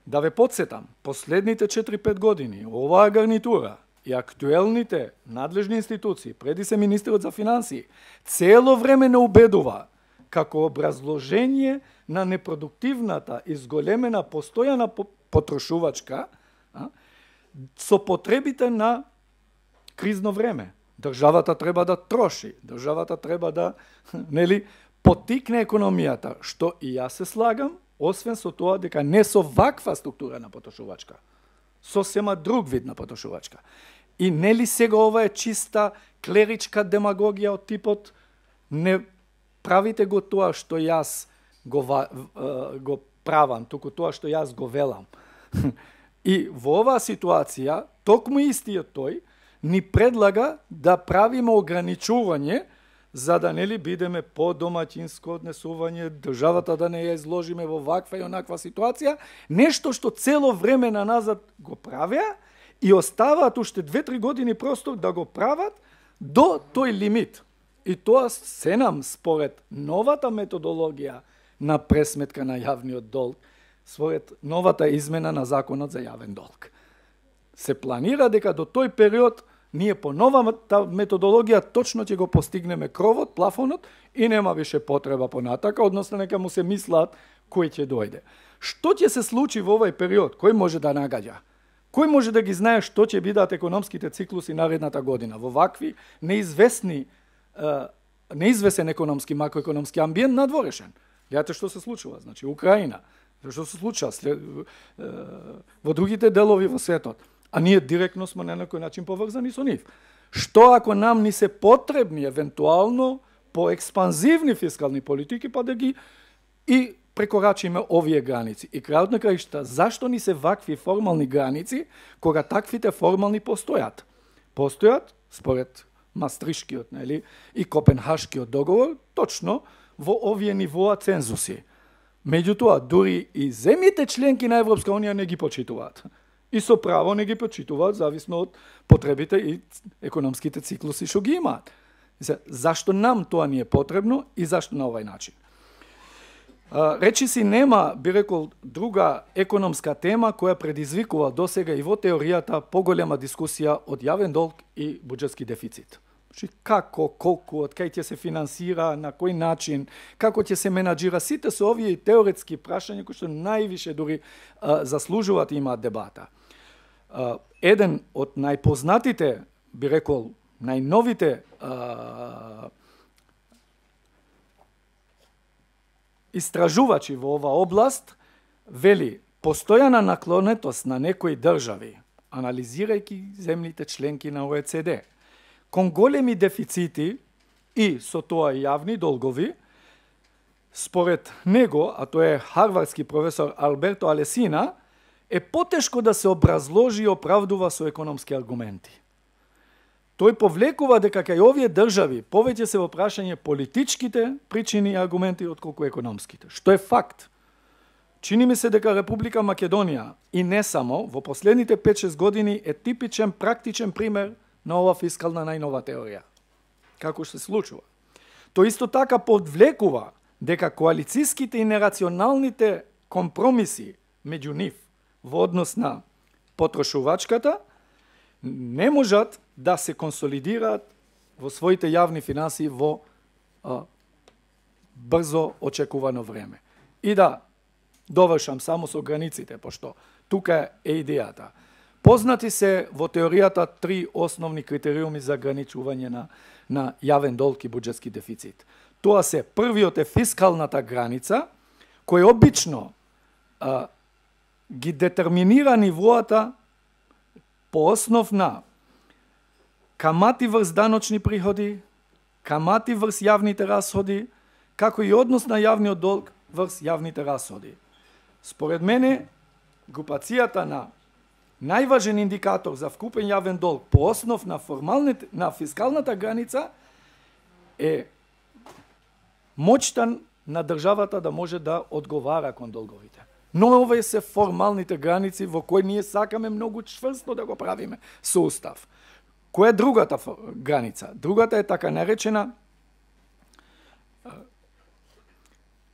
Да ве подсетам, последните четири-пет години, оваа гарнитура и актуелните надлежни институции, преди се министерот за финансии, цело време не убедува како образложение на непродуктивната и зголемена постојана потрошувачка а, со потребите на кризно време. Државата треба да троши, државата треба да нели потикне економијата, што и јас се слагам, освен со тоа дека не со ваква структура на потрошувачка, сосема друг вид на потрошувачка. И нели сега ова е чиста клеричка демагогија од типот не правите го тоа што јас го, го правам, туку тоа што јас го велам. И во оваа ситуација, токму истиот тој ни предлага да правиме ограничување за да нели бидеме по-домаќинско однесување, државата да не ја изложиме во ваква и онаква ситуација, нешто што цело време на назад го правеа и оставаат уште две-три години простор да го прават до тој лимит. И тоа се нам според новата методологија на пресметка на јавниот долг, според новата измена на законот за јавен долг. Се планира дека до тој период ние по новата методологија точно ќе го постигнеме кровот, плафонот и нема више потреба понатака, односно нека му се мислат кој ќе дојде. Што ќе се случи во овој период? Кој може да нагаѓа? Кој може да ги знае што ќе бидат економските циклуси наредната година во вакви неизвестни неизвестен економски, макроекономски амбиент надворешен? Гледате што се случува, значи Украина, што се случува след, во другите делови во светот. А ние директно сме на некој начин поврзани со нив. Што ако нам ни се потребни евентуално по експанзивни фискални политики, па да ги и прекорачиме овие граници. И крајот на краишта, зашто ни се вакви формални граници, кога таквите формални постојат? Постојат, според Мастришкиот, нели, и Копенхашкиот договор, точно во овие нивоа цензуси. Меѓутоа, дури и земјите членки на Европска унија не ги почитуваат. И со право не ги почитуваат, зависно од потребите и економските циклуси што ги имаат. Зашто нам тоа ни е потребно и зашто на овај начин? Речи си нема, би рекол, друга економска тема која предизвикува досега и во теоријата поголема дискусија од јавен долг и буџетски дефицит. Значи, како, колку, од кај ќе се финансира, на кој начин, како ќе се менаџира, сите со овие теоретски прашања кои што највише дури а, заслужуваат и имаат дебата. А, еден од најпознатите, би рекол, најновите а, истражувачи во ова област вели постојана наклонетост на некои држави, анализирајќи земните членки на О Е Це Де, кон големи дефицити и со тоа јавни долгови, според него, а тоа е харвардски професор Алберто Алесина, е потешко да се образложи и оправдува со економски аргументи. Тој повлекува дека кај овие држави повеќе се во прашање политичките причини и аргументи отколку економските, што е факт. Чини ми се дека Република Македонија и не само во последните пет-шест години е типичен практичен пример на ова фискална најнова теорија. Како се случува? Тој исто така подвлекува дека коалициските и нерационалните компромиси меѓу нив во однос на потрошувачката не можат да се консолидираат во своите јавни финансии во а, брзо очекувано време. И да довршам само со границите, пошто тука е идејата. Познати се во теоријата три основни критериуми за граничување на, на јавен долг и буџетски дефицит. Тоа се, првиот е фискалната граница, кој обично а, ги детерминира нивоата по основ на камати врз даночни приходи, камати врз јавните расходи, како и однос на јавниот долг врз јавните расходи. Според мене, групацијата на најважен индикатор за вкупен јавен долг по основ на формалните, на фискалната граница е моќта на државата да може да одговара кон долговите. Но овие се формалните граници во кои ние сакаме многу чврсто да го правиме со устав. Која е другата граница? Другата е така наречена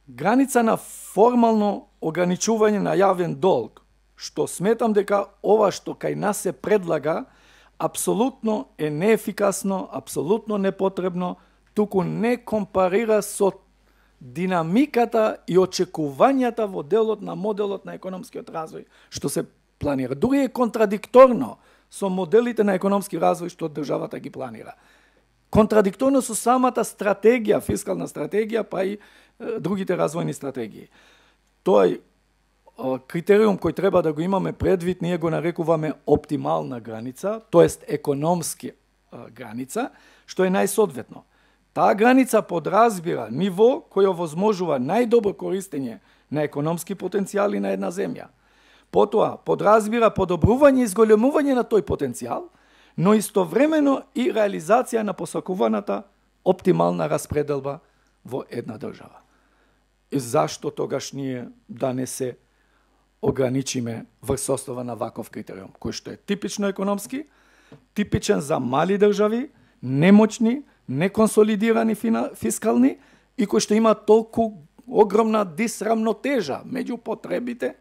граница на формално ограничување на јавен долг, што сметам дека ова што кај нас се предлага апсолутно е неефикасно, апсолутно непотребно, туку не компарира со динамиката и очекувањата во делот на моделот на економскиот развој што се планира. Дури е контрадикторно со моделите на економски развој што државата ги планира. Контрадикторно со самата стратегија, фискална стратегија, па и е, другите развојни стратегии. Тој е, критериум кој треба да го имаме предвид, ние го нарекуваме оптимална граница, тоест економски е, граница, што е најсоодветно. Таа граница подразбира ниво кој овозможува најдобро користење на економски потенцијали на една земја. Потоа, подразбира подобрување и зголемување на тој потенцијал, но истовремено и реализација на посакуваната оптимална распределба во една држава. И зашто тогаш ние да не се ограничиме врз основа на ваков критериум, кој што е типично економски, типичен за мали држави, немоćни, неконсолидирани фискални и кој што има толку огромна дисрамнотежа меѓу потребите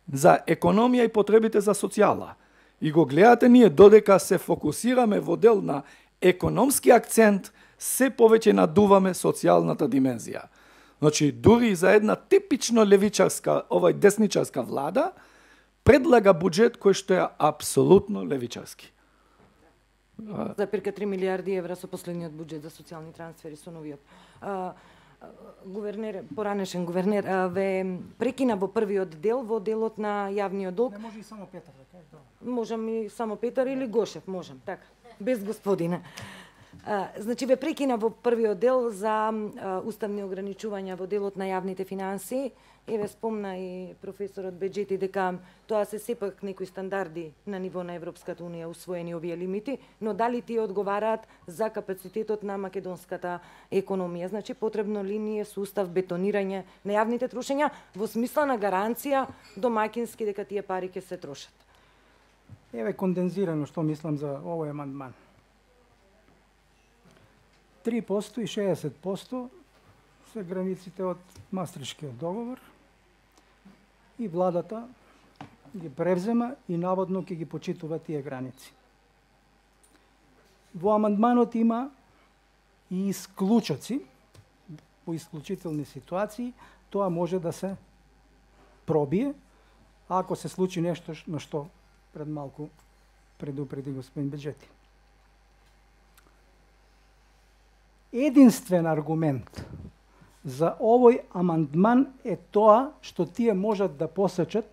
за економија и потребите за социјала. И го гледате ние додека се фокусираме во дел на економски акцент, се повеќе надуваме социјалната димензија. Значи, дури за една типично левичарска, овај десничарска влада, предлага буџет кој што е апсолутно левичарски. За перка три милиарди евра со последниот буџет за социјални трансфери со новиот. А, гувернер, поранешен гувернер, а, ве прекина во првиот дел, во делот на јавниот долг. Не може и само Петар да каже, да. Можам и само Петар или Гошев, можам, така, без господина. А, значи, ве прекина во првиот дел за а, уставни ограничувања во делот на јавните финансии. Еве спомна и професорот Беџети дека тоа се сепак некои стандарди на ниво на Европската унија усвоени овие лимити, но дали тие одговараат за капацитетот на македонската економија? Значи, потребно ли ни е сустав бетонирање на јавните трошења во смисла на гаранција домаќински дека тие пари ќе се трошат? Еве кондензирано што мислам за овој амандман. три проценти и шеесет проценти се границите од Мастрихтскиот договор и владата ги превзема и наводно ќе ги почитува тие граници. Во амандманот има и исклучоци, по исклучителни ситуации, тоа може да се пробие, ако се случи нешто на што пред малку предупреди господин Беџети. Единствен аргумент за овој амандман е тоа што тие можат да посечат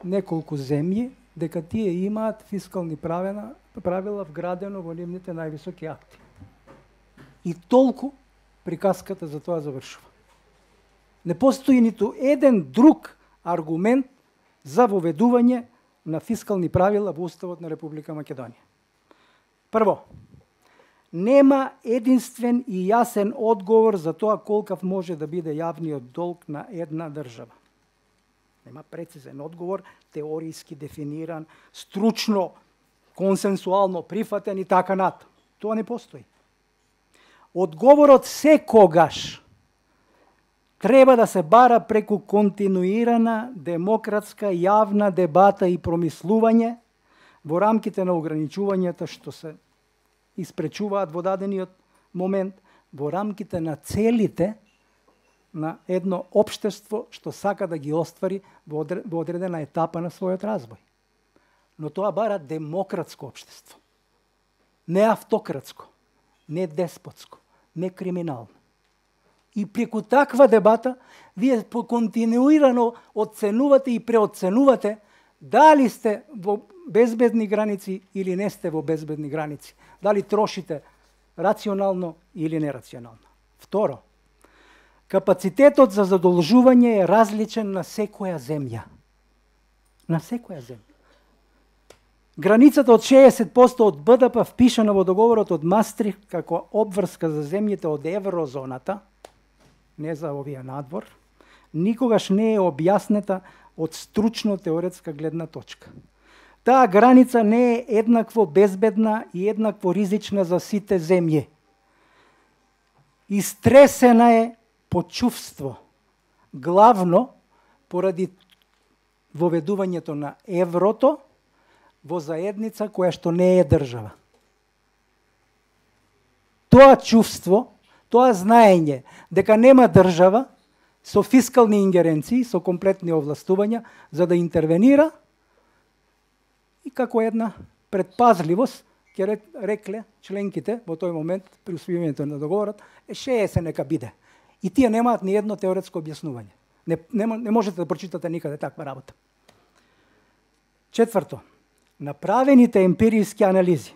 неколку земји дека тие имаат фискални правила, правила вградено во нивните највисоки акти. И толку приказката за тоа завршува. Не постои ниту еден друг аргумент за воведување на фискални правила во Уставот на Република Македонија. Прво, нема единствен и јасен одговор за тоа колкав може да биде јавниот долг на една држава. Нема прецизен одговор, теоријски дефиниран, стручно, консенсуално прифатен и така натаму. Тоа не постои. Одговорот секогаш треба да се бара преку континуирана демократска јавна дебата и промислување во рамките на ограничувањата што се испречуваат во дадениот момент, во рамките на целите на едно општество што сака да ги оствари во одредена етапа на својот развој. но тоа бара демократско општество. Не автократско, не деспотско, не криминално. И преку таква дебата, вие континуирано оценувате и преоценувате дали сте во безбедни граници или не сте во безбедни граници. Дали трошите рационално или нерационално. Второ, капацитетот за задолжување е различен на секоја земја. На секоја земја. Границата од шеесет проценти од Б Д П впишана во договорот од Мастрихт како обврска за земјите од еврозоната, не за овие надвор, никогаш не е објаснета од стручно-теоретска гледна точка. Таа граница не е еднакво безбедна и еднакво ризична за сите земји. Истресена е по чувство, главно поради воведувањето на еврото во заедница која што не е држава. Тоа чувство, тоа знаење дека нема држава со фискални ингеренции, со комплетни овластувања за да интервенира и како една предпазливост ќе рекле членките во тој момент при усвојувањето на договорот е шеесет нека биде. И тие немаат ни едно теоретско објаснување. Не, не, не можете да прочитате никаде таква работа. Четврто, направените емпириски анализи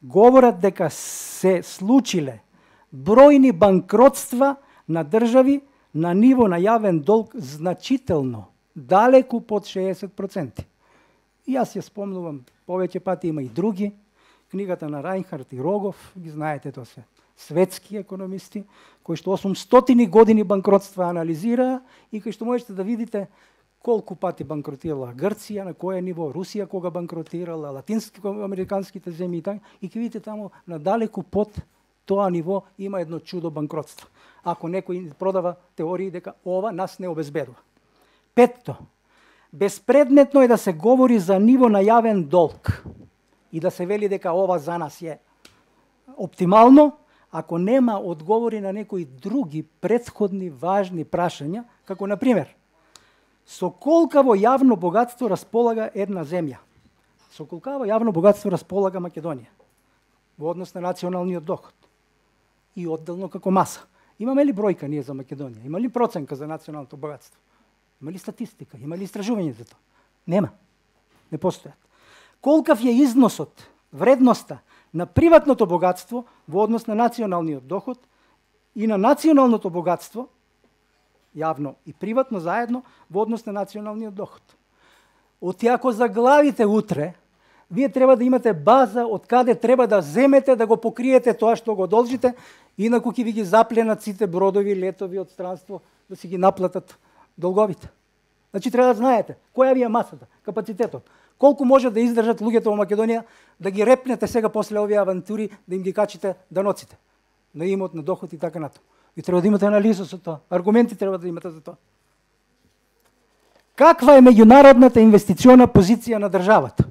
говорат дека се случиле бројни банкротства на држави на ниво на јавен долг значително, далеку под шеесет проценти. И јас ја спомнувам повеќе пати, има и други, книгата на Рајнхард и Рогов, ги знаете, тоа се светски економисти, кои што осумстотини години банкротства анализираа и кои што можете да видите колку пати банкротирала Грција, на кое ниво, Русија кога банкротирала, латинско-американските земји и така, и ќе видите таму надалеку под тоа ниво има едно чудо банкротство. Ако некој продава теории дека ова нас не обезбедува. Петто, безпредметно е да се говори за ниво на јавен долг и да се вели дека ова за нас е оптимално, ако нема одговори на некои други претходни важни прашања, како на пример, со колкаво јавно богатство располага една земја? Со колкаво јавно богатство располага Македонија во однос на националниот доход и одделно како маса? Имаме ли бројка ние за Македонија? Има ли проценка за националното богатство? Има ли статистика? Има ли истражување за тоа? Нема. Не постојат. Колкав е износот, вредноста на приватното богатство во однос на националниот доход и на националното богатство, јавно и приватно заедно, во однос на националниот доход. Оти ако заглавите утре, вие треба да имате база од каде треба да земете да го покриете тоа што го должите, инаку ќе ви ги запленат сите бродови, летови од странство да си ги наплатат долговите. Значи треба да знаете која ви е масата, капацитетот. Колку може да издржат луѓето во Македонија да ги репнете сега после овие авантури, да им ги качите даноците на имот, на доход и така натаму. И треба да имате анализа со тоа. Аргументи треба да имате за тоа. Каква е меѓународната инвестициона позиција на државата?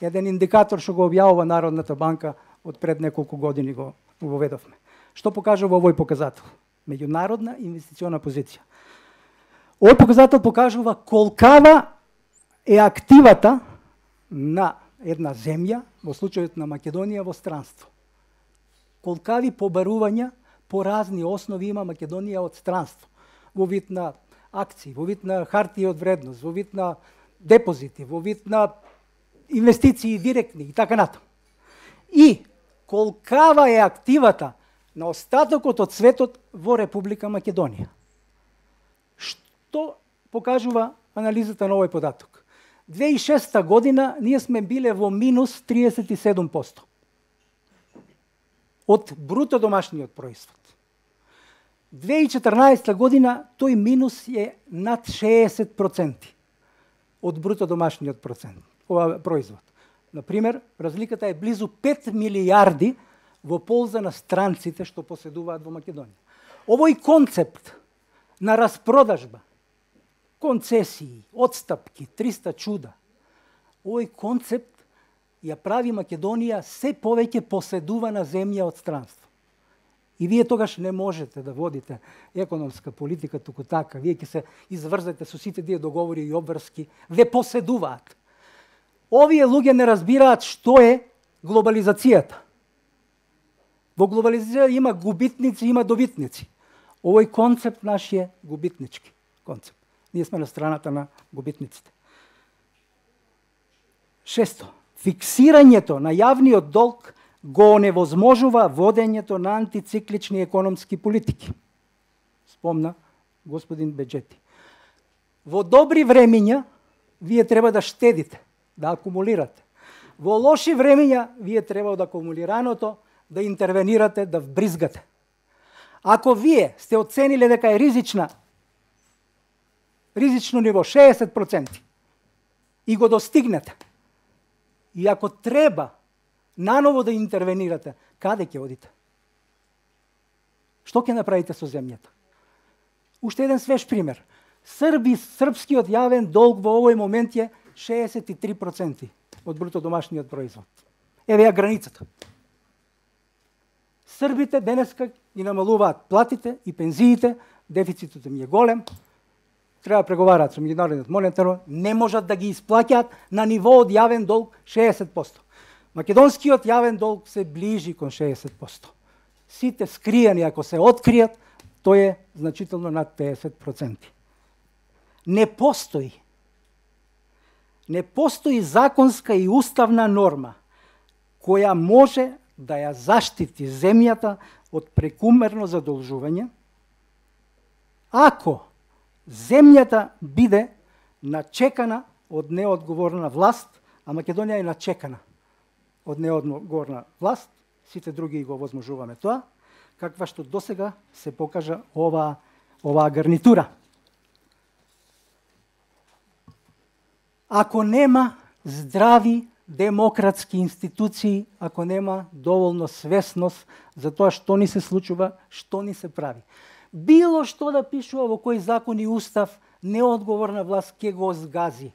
Еден индикатор што го објавува Народната банка од пред неколку години го воведовме. Што покажува овој показател? Меѓународна инвестициона позиција. Овој показател покажува колкава е активата на една земја, во случајот на Македонија, во странство. Колкави побарувања по разни основи има Македонија од странство, во вид на акции, во вид на хартија од вредност, во вид на депозити, во вид на инвестиции директни и така натаму. И колкава е активата на остатокот од светот во Република Македонија. Што покажува анализата на овој податок? две тисачи и шеста година ние сме биле во минус триесет и седум проценти од бруто домашниот производ. две тисачи и четрнаесета година тој минус е над шеесет проценти од бруто домашниот процент, ова производ. Например, разликата е близу пет милијарди во полза на странците што поседуваат во Македонија. Овој концепт на распродажба, концесии, отстапки, триста чуда, овој концепт ја прави Македонија се повеќе поседувана земја од странство. И вие тогаш не можете да водите економска политика туку така. Вие ќе се изврзете со сите тие договори и обврски, ве поседуваат. Овие луѓе не разбираат што е глобализацијата. Во глобализација има губитници, има добитници. Овој концепт наш е губитнички концепт. Ние сме на страната на губитниците. Шесто, фиксирањето на јавниот долг го оневозможува водењето на антициклични економски политики. Спомна господин Беџети. Во добри времиња вие треба да штедите, да акумулирате. Во лоши времиња вие треба да акумулираното да интервенирате, да вбризгате. Ако вие сте оцениле дека е ризична, ризично ниво шеесет проценти и го достигнете, и ако треба наново да интервенирате, каде ќе одите? Што ќе направите со земјата? Уште еден свеж пример. Срби, српскиот јавен долг во овој момент е шеесет и три проценти од бруто домашниот производ. Еве ја границата. Србите денеска ги намалуваат платите и пензиите, дефицитот им е голем, треба да преговараат со меѓународниот монетарен, не можат да ги исплаќаат на ниво од јавен долг шеесет проценти. Македонскиот јавен долг се ближи кон шеесет проценти. Сите скриени, ако се откријат, тој е значително над пеесет проценти. Не постои. Не постои законска и уставна норма која може да ја заштити земјата од прекумерно задолжување, ако земјата биде начекана од неодговорна власт, а Македонија е начекана од неодговорна власт, сите други го возможуваме тоа, каква што досега се покажа оваа оваа гарнитура. Ако нема здрави демократски институции, ако нема доволно свесност за тоа што ни се случува, што ни се прави. Било што да пишува во кој закон и устав, неодговорна власт ќе го згази.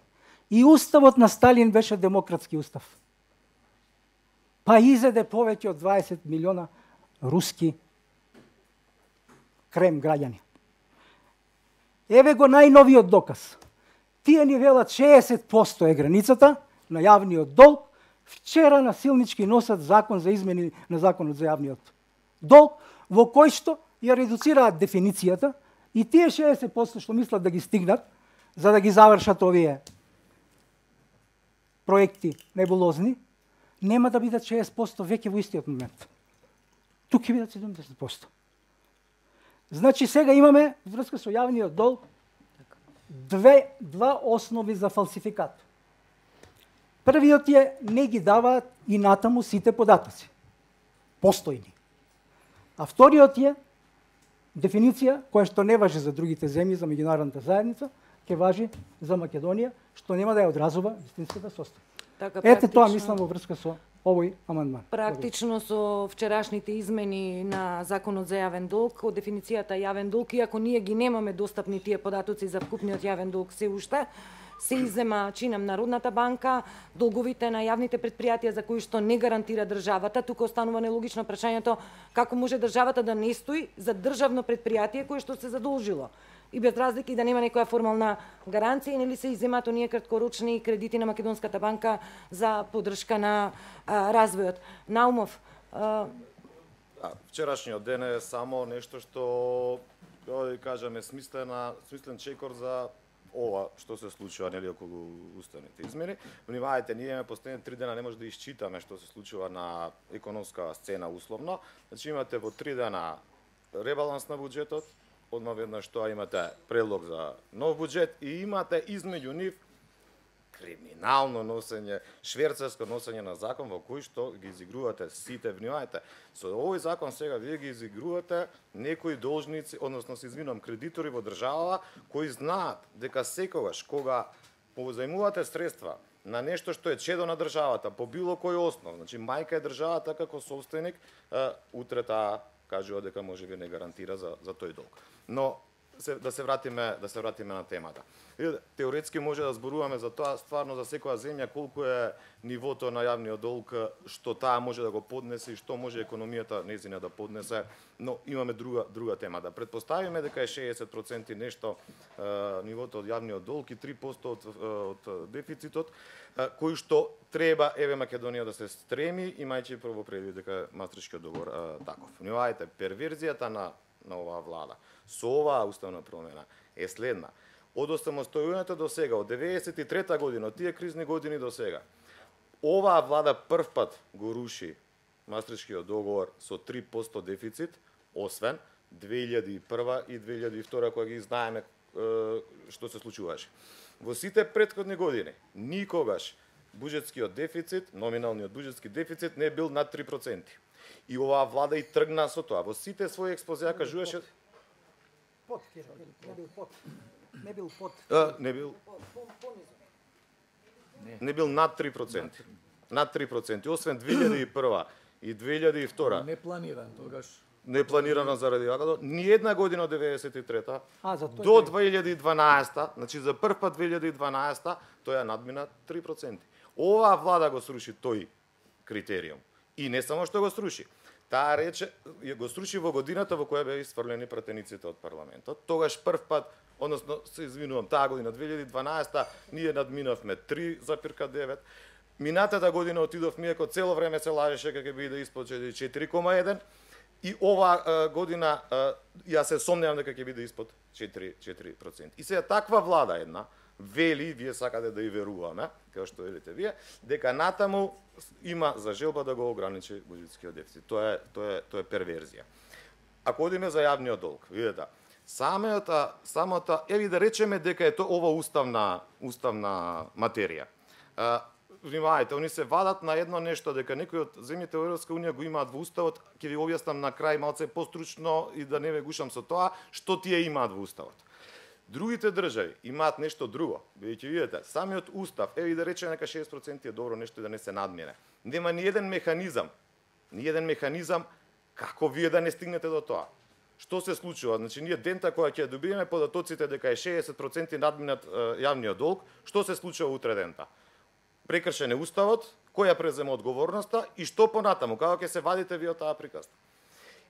И уставот на Сталин беше демократски устав. Па изеде повеќе од дваесет милиона руски крем граѓани. Еве го најновиот доказ. Тие ни велат шеесет проценти е границата на јавниот долг. Вчера насилнички носат закон за измени на законот за јавниот долг, во кој што ја редуцираат дефиницијата и тие шеесет проценти што мислат да ги стигнат, за да ги завршат овие проекти небулозни, нема да бидат шеесет проценти веќе во истиот момент. Тук ќе бидат седумдесет проценти. Значи сега имаме врска со јавниот долг две два основи за фалсификат. Првиот е не ги даваат и натаму сите податоци. Постојни. А вториот е дефиниција која што не важи за другите земји, за меѓународната заедница, ќе важи за Македонија, што нема да ја одразува вистинската состојба. Така, ете тоа мислам во врска со овој амандман. Практично со вчерашните измени на законот за јавен долг, од дефиницијата јавен долг, иако ние ги немаме достапни тие податоци за вкупниот јавен долг се уште, се иззема чинам Народната банка, долговите на јавните предпријатија за кои што не гарантира државата. Тука останува нелогично прашањето како може државата да не стои за државно предпријатие кое што се задолжило. И без разлики да нема некоја формална гаранција, нели се изземаат оние краткорочни кредити на Македонската банка за поддршка на а, развојот. Наумов, а... А, вчерашниот ден е само нешто што, да кажеме, смислена, смислен чекор за ова што се случува нели околу уставните измени. Внимавајте, ние имаме последните три дена не може да исчитаме што се случува на економска сцена условно. Значи имате во три дена ребаланс на буџетот, одма веднаш тоа имате предлог за нов буџет и имате измеѓу нив криминално носење, шверцерско носење на закон во кој што ги изигрувате сите. Внимавајте, со овој закон сега вие ги изигрувате некои должници, односно се извинувам, кредитори во државава кои знаат дека секогаш кога позајмувате средства на нешто што е чедо на државата по било кој основ, значи мајка е државата како собственик, утре таа кажува дека може би не гарантира за за тој долг. Но се, да се вратиме да се вратиме на темата. Теоретски може да зборуваме за тоа стварно за секоја земја колку е нивото на јавниот долг, што таа може да го поднесе и што може економијата нејзина да поднесе, но имаме друга друга тема. Да претпоставиме дека е шеесет проценти нешто е, нивото од јавниот долг и три проценти од од дефицитот, е, кој што треба еве Македонија да се стреми, имајќи прво предвид дека Мастрихтскиот договор е, таков. Внимавајте, перверзијата на на оваа влада со оваа уставна промена е следна. Од осамостојувањето до сега, од деветдесет и трета година, од тие кризни години до сега, оваа влада прв пат го руши Мастрихтскиот договор со три проценти дефицит, освен две илјади и прва и две илјади и втора, кога ги знаеме што се случуваше. Во сите претходни години, никогаш буџетскиот дефицит, номиналниот буџетски дефицит не бил над три проценти. И оваа влада и тргна со тоа. Во сите своји експозеа кажуваше Под, не бил под. Не бил под. А, не бил. Не бил над три проценти. Над три проценти, освен две илјади и прва и две илјади и втора. Не планиран тогаш. Не планирано заради тоа. Ни една година од деветдесет и трета А, за тој до две илјади и дванаесета, значи за прв пат две илјади и дванаесета, тој ја надмина три проценти. Оваа влада го сруши тој критериум. И не само што го сруши, таа рече го сруши во годината во која беа исфрлени пратениците од парламентот. Тогаш прв пат, односно се извинувам, таа година две илјади и дванаесета ние надминавме три запирка девет. Минатата година отидовме, иако цело време се лажеше дека ќе биде испод четири кома еден. И оваа година ја се сомневам дека ќе биде испод четири проценти. И сега таква влада една вели, вие сакате да и веруваме, како што велите вие, дека натаму има за желба да го ограничи буџетскиот дефицит. Тоа е тоа е тоа е перверзија. Ако одиме за јавниот долг, видете, самата самата еви да речеме дека е тоа ова уставна уставна материја. Внимавајте, они се вадат на едно нешто дека некои од земјите во Европска унија го имаат во уставот, ќе ви објаснам на крај малце постручно и да не ве гушам со тоа, што тие имаат во уставот. Другите држави имаат нешто друго. Бидејќи видите, самиот устав, еви да речеме дека шеесет проценти е добро нешто да не се надмине. Нема ни еден механизам, ни еден механизам како вие да не стигнете до тоа. Што се случува? Значи ние дента кога ќе добиеме податоците дека е шеесет проценти надминат јавниот долг, што се случува утре дента? Прекршен е уставот, кој ја презема одговорноста и што понатаму, како ќе се вадите вие од таа приказна.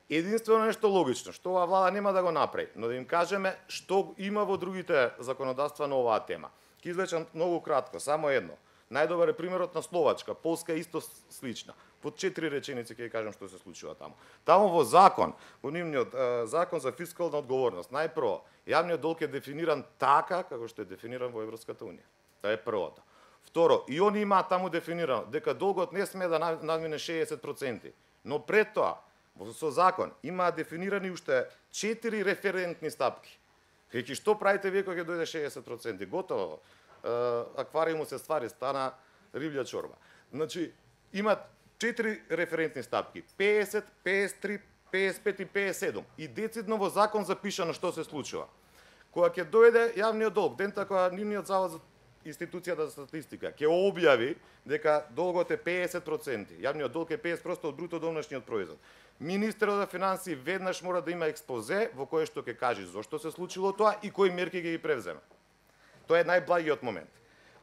Единствено нешто логично, што оваа влада нема да го направи, но да им кажеме што има во другите законодавства на оваа тема. Ќе извлечам многу кратко, само едно. Најдобар е примерот на Словачка, Полска е исто слична. Под четири реченици ќе ви кажам што се случува таму. Таму во закон, во нивниот е, закон за фискална одговорност, најпрво, јавниот долг е дефиниран така како што е дефиниран во Европската унија. Тоа е првото. Второ, и они имаат таму дефинирано дека долгот не сме да надмине шеесет проценти, но пред тоа со закон имаат дефинирани уште четири референтни стапки. Кај што правите вие кога ќе дојде шеесет проценти? Готово. Аквариумот се ствари, стана риблја чорба. Значи, имаат четири референтни стапки. пеесет, пеесет и три, пеесет и пет и пеесет и седум. И децидно во закон запишано што се случува. Кога ќе дојде јавниот долг, дента кога нивниот завод за институцијата за статистика ќе објави дека долгот е пеесет проценти, јавниот долг е пеесет проценти од бруто домашниот производ. Министерот за финансии веднаш мора да има експозе во кое што ќе каже зошто се случило тоа и кои мерки ќе ги превземе. Тоа е најблагиот момент.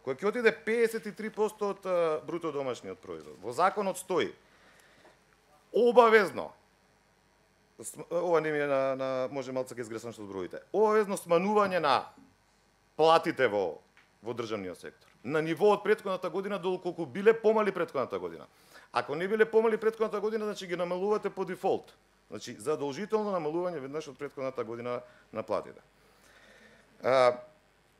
Кога ќе отиде пеесет и три проценти од бруто домашниот производ, во законот стои обавезно, ова не ми е на, на може малце ќе изгресам што зброите, обавезно сманување на платите во во државниот сектор. На ниво од претходната година доколку биле помали претходната година. Ако не биле помали претходната година, значи ги намалувате по дефолт. Значи задолжително намалување веднаш од претходната година на платите. А,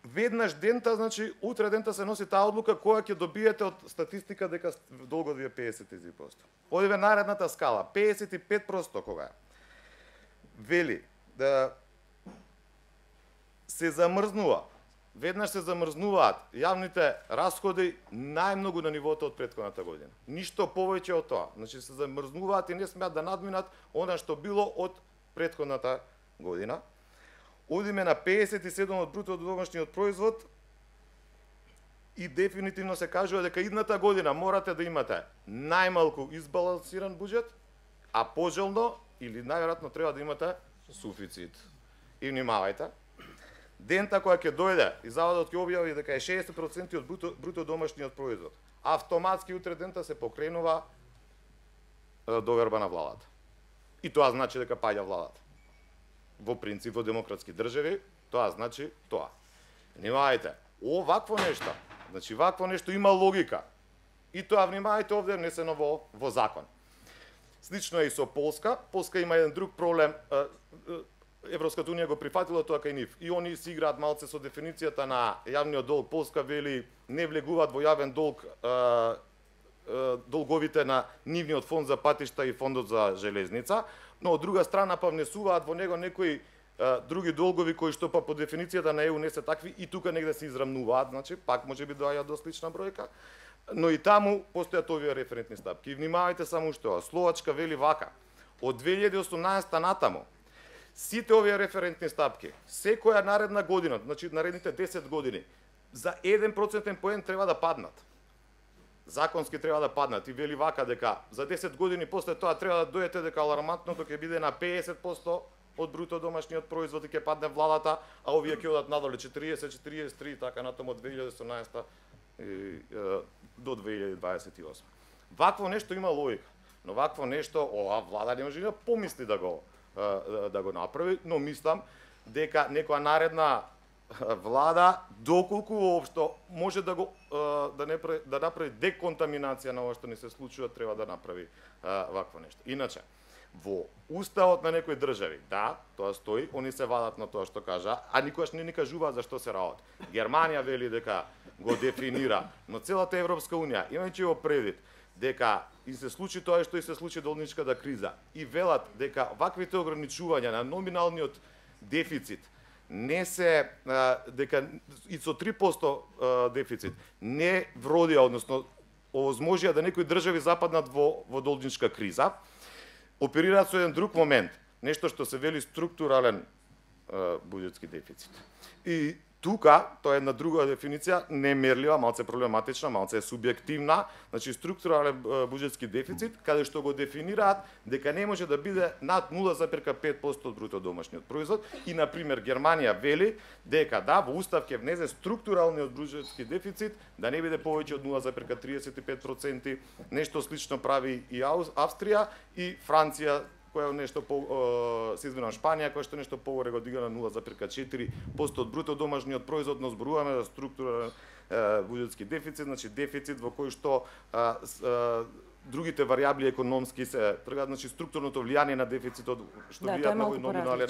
веднаш дента, значи утре дента се носи таа одлука која ќе добиете од статистика дека долгот ви е пеесет и три проценти. Одиве наредната скала, пеесет и пет проценти кога е. Вели да се замрзнува. Веднаш се замрзнуваат јавните расходи најмногу на нивото од претходната година. Ништо повеќе од тоа. Значи се замрзнуваат и не смеат да надминат она што било од претходната година. Одиме на пеесет и седум од бруто домашниот производ и дефинитивно се кажува дека идната година морате да имате најмалку избалансиран буџет, а пожелно или најверојатно треба да имате суфицит. И внимавајте, дента која ќе дојде и заводот ќе објави дека е шеесет проценти од бруто, бруто домашниот производ, автоматски утре дента се покренува е, доверба на владата. И тоа значи дека паѓа владата. Во принцип, во демократски држави, тоа значи тоа. Внимавајте, овакво нешто, значи вакво нешто има логика. И тоа, внимавајте, овде внесено во, во закон. Слично е и со Полска. Полска има еден друг проблем. Европската унија го прифатила тоа кај нив. И они си играат малце со дефиницијата на јавниот долг. Полска вели не влегуваат во јавен долг а, а, долговите на нивниот фонд за патишта и фондот за железница, но од друга страна па внесуваат во него некои а, други долгови кои што па по дефиницијата на Е У не се такви и тука негде се израмнуваат, значи пак можеби доаѓа до слична бројка. Но и таму постојат овие референтни стапки. И внимавајте само што Словачка вели вака: од две илјади и осумнаесета натаму сите овие референтни стапки, секоја наредна година, значи наредните десет години, за еден процентен поен треба да паднат. Законски треба да паднат. И вели вака дека за десет години после тоа треба да дојдете дека алармантното ќе биде на пеесет проценти од бруто домашниот производ и ќе падне владата, а овие ќе одат надоле четириесет, четириесет и три, така натаму од две илјади и осумнаесета и, е, до две илјади дваесет и осма. Вакво нешто има логика, но вакво нешто ова влада не може да помисли да го да го направи, но мислам дека некоја наредна влада, доколку воопшто може да го да не да направи деконтаминација на ова што ни се случува, треба да направи вакво нешто. Иначе, во уставот на некои држави, да, тоа стои, они се вадат на тоа што кажа, а никогаш не ни кажуваат за што се работи. Германија вели дека го дефинира, но целата Европска унија, имајќи го предвид дека и се случи тоа што и се случи должничката криза и велат дека ваквите ограничувања на номиналниот дефицит не се дека и со три проценти дефицит не вродија, односно овозможија да некои држави западнат во во должничка криза, оперираат со еден друг момент, нешто што се вели структурален буџетски дефицит. И тука, тоа е една друга дефиниција, немерлива, малце проблематична, малце субјективна, значи структурален буџетски дефицит, каде што го дефинираат дека не може да биде над нула зарез пет проценти од бруто домашниот производ и, на пример, Германија вели дека да, во устав ќе внесе структуралниот буџетски дефицит да не биде повеќе од нула зарез триесет и пет проценти, нешто слично прави и Австрија и Франција, која нешто по се извинувам Шпанија, која што нешто погоре го дига на нула зарез четири проценти од бруто домашниот производ, но зборуваме за структурален буџетски дефицит, значи дефицит во кој што а, а, другите варијабли економски се тргаат, значи структурното влијание на дефицитот што да, влијаат на номинален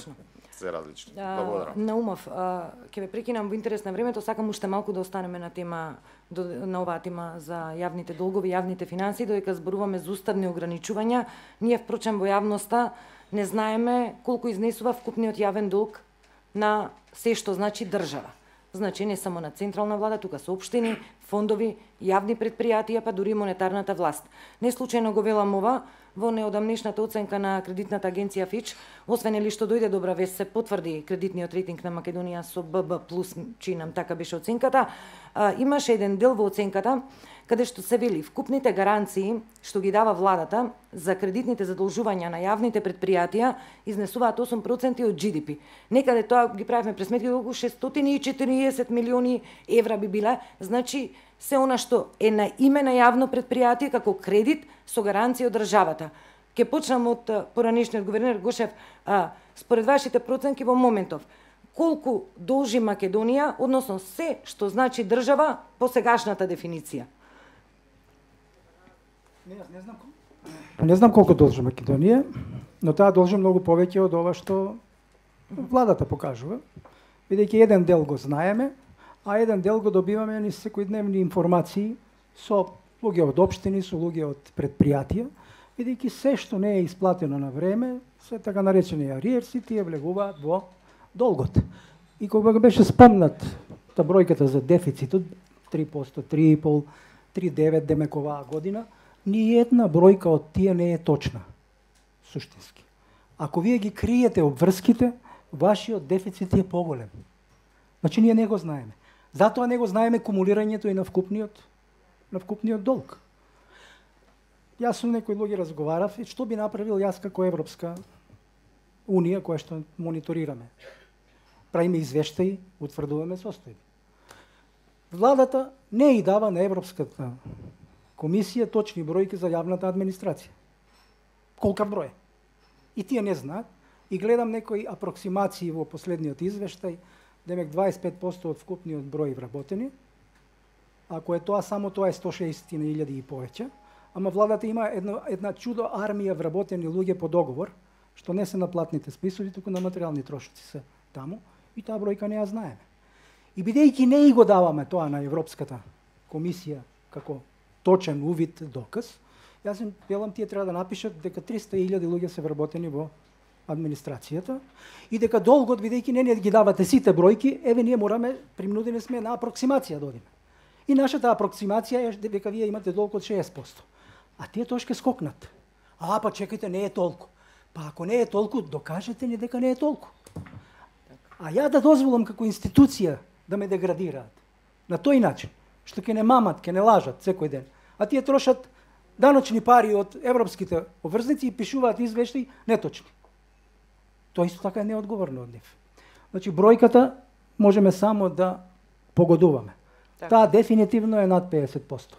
се различни. Благодарам. Наумов, ќе ве прекинам во интерес на времето, сакам уште малку да останеме на тема на оваа тема за јавните долгови, јавните финанси, додека зборуваме за уставни ограничувања. Ние впрочем во јавноста не знаеме колку изнесува вкупниот јавен долг на се што значи држава. Значи не само на централна влада, тука се општини, фондови, јавни предпријатија, па дури монетарната власт. Не случајно го велам ова во неодамнешната оценка на кредитната агенција Фич, освен ли што дојде добра вест, се потврди кредитниот рейтинг на Македонија со Б Б плюс, чинам така беше оценката, а, имаше еден дел во оценката каде што се вели вкупните гаранции што ги дава владата за кредитните задолжувања на јавните предпријатија изнесуваат осум проценти од Джи Ди Пи. Некаде тоа ги правевме пресметки колку шестстотини и четириесет милиони евра би биле, значи се она што е на име на јавно предпријатие како кредит со гаранција од државата. Ке почнам од поранешниот гувернер Гошев, а, според вашите проценки во моментов, колку должи Македонија, односно се што значи држава по сегашната дефиниција? Не, не знам Не знам колку должи Македонија, но таа должи многу повеќе од ова што владата покажува. Бидејќи еден дел го знаеме, а еден дел го добиваме низ секојдневни информации со луѓе од општини, со луѓе од предпријатија, бидејќи се што не е исплатено на време, се така наречени ариерси, тие влегуваат во долгот. И кога беше спомнат та бројката за дефицитот, три проценти, три и пол, три целу девет демек оваа година, ни една бројка од тие не е точна, суштински. Ако вие ги криете обврските, вашиот дефицит е поголем. Значи ние не го знаеме. Затоа не го знаеме кумулирањето и на вкупниот, на вкупниот долг. Јас со некои луѓе разговарав и што би направил јас како Европска Унија, која што мониторираме правиме извештаи, утврдуваме состојби. Владата не и дава на Европската комисија точни бројки за јавната администрација. Колкав број? И тие не знаат. И гледам некои апроксимации во последниот извештај, демек дваесет и пет проценти од вкупниот број вработени. Ако е тоа, само тоа е сто и шеесет илјади и повеќе. Ама владата има една, една чудо армија вработени луѓе по договор, што не се на платните списови, туку на материјални трошоци се таму, и таа бројка не ја знаеме. И бидејќи не и го даваме тоа на Европската комисија како точен увид доказ, јас им велам тие треба да напишат дека триста илјади луѓе се вработени во администрацијата и дека долгот, бидејќи не не ги давате сите бројки, еве ние мораме, принудени сме на апроксимација да одиме. И нашата апроксимација е дека вие имате долг од шеесет проценти. А тие тоа ќе скокнат. А, па чекајте, не е толку. Па ако не е толку, докажете ни дека не е толку. А ја да дозволам како институција да ме деградираат на тој начин, што ќе не мамат, ќе не лажат секој ден, а тие трошат даночни пари од европските обврзници и пишуваат извештаи неточни. Тоа исто така е неодговорно од нив. Значи, бројката можеме само да погодуваме. Так. Таа дефинитивно е над педесет проценти.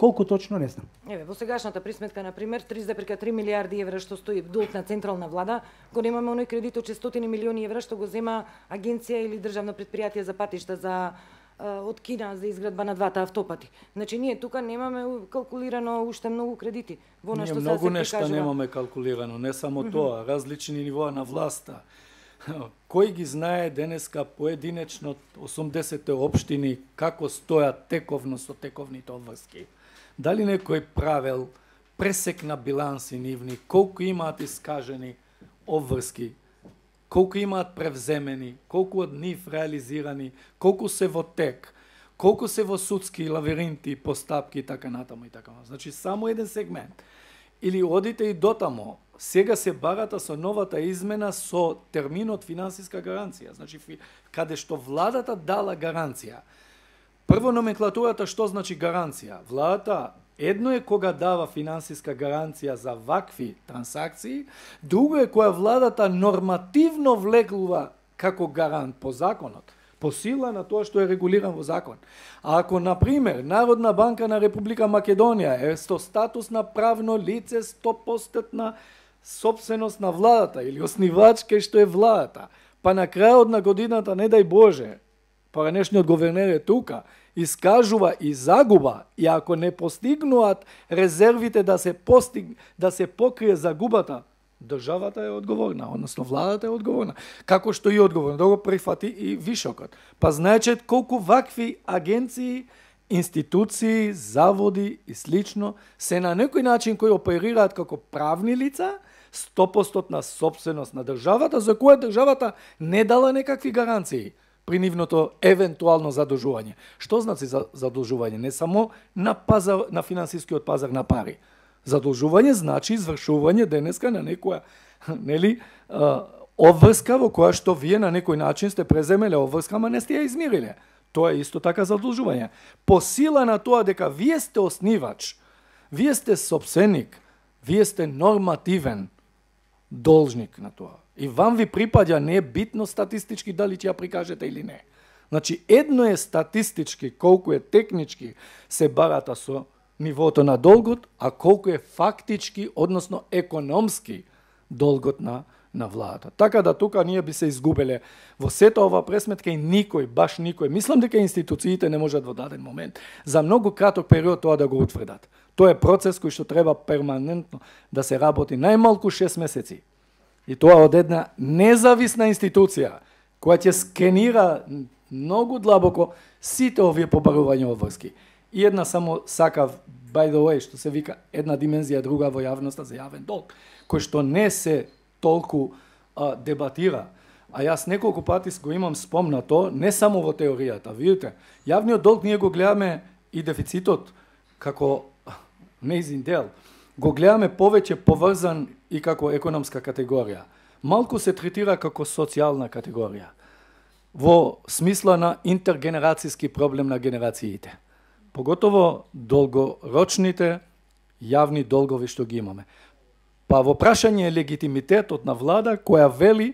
Колку точно не знам. Еве, во сегашната присметка, на пример, три зарез три милиарди евра што стои долг на централна влада, го немаме оној кредит од четиристотини милиони евра што го зема агенција или државно предпријатие за патишта за од Кина за изградба на двата автопати. Значи ние тука немаме калкулирано уште многу кредити. Во Ние нашто се многу се нешта прикажува. немаме калкулирано, не само тоа, различни нивоа на власта. Кој ги знае денеска поединечно осумдесет општини како стојат тековно со тековните обврски? Дали некој правел пресек на биланси нивни, колку имаат искажени обврски, колку имаат превземени, колку од нив реализирани, колку се во тек, колку се во судски лавиринти, постапки и така натаму и така натаму. Значи само еден сегмент. Или одите и дотамо, сега се барата со новата измена со терминот финансиска гаранција. Значи, каде што владата дала гаранција. Прво номенклатурата што значи гаранција? Владата едно е кога дава финансиска гаранција за вакви трансакции, друго е која владата нормативно влегува како гарант по законот, по сила на тоа што е регулиран во закон. А ако, например, Народна банка на Република Македонија е со статус на правно лице сто проценти на собственост на владата или оснивач кај што е владата, па на крајот на годината, не дај Боже, поранешниот говернер е тука, искажува и загуба, и ако не постигнуваат резервите да се постиг, да се покрие загубата, државата е одговорна, односно владата е одговорна. Како што и одговорна, да го прифати и вишокот. Па знаете колку вакви агенции, институции, заводи и слично се на некој начин кои оперираат како правни лица, сто проценти на собственост на државата, за која државата не дала некакви гаранции при нивното евентуално задолжување. Што значи за задолжување? Не само на пазар, на финансискиот пазар на пари. Задолжување значи извршување денеска на некоја, нели, обврска во која што вие на некој начин сте преземеле обврска, ама не сте ја измириле. Тоа е исто така задолжување. По сила на тоа дека вие сте оснивач, вие сте собственик, вие сте нормативен должник на тоа. И вам ви припаѓа, не е битно статистички дали ќе ја прикажете или не. Значи, едно е статистички колку е технички се барата со нивото на долгот, а колку е фактички, односно економски долгот на на владата. Така да тука ние би се изгубеле во сета ова пресметка и никој, баш никој. Мислам дека институциите не можат во даден момент за многу краток период тоа да го утврдат. Тоа е процес кој што треба перманентно да се работи најмалку шест месеци. И тоа од една независна институција која ќе скенира многу длабоко сите овие побарувања обврски. И една само сакав, by the way, што се вика една димензија друга во јавноста за јавен долг, кој што не се толку а, дебатира. А јас неколку пати го имам спомнато, не само во теоријата. Видите, јавниот долг ние го гледаме и дефицитот како неизин дел. Го гледаме повеќе поврзан и како економска категорија. Малку се третира како социјална категорија. Во смисла на интергенерацијски проблем на генерациите. Поготово долгорочните јавни долгови што ги имаме. Па во прашање е легитимитетот на влада која вели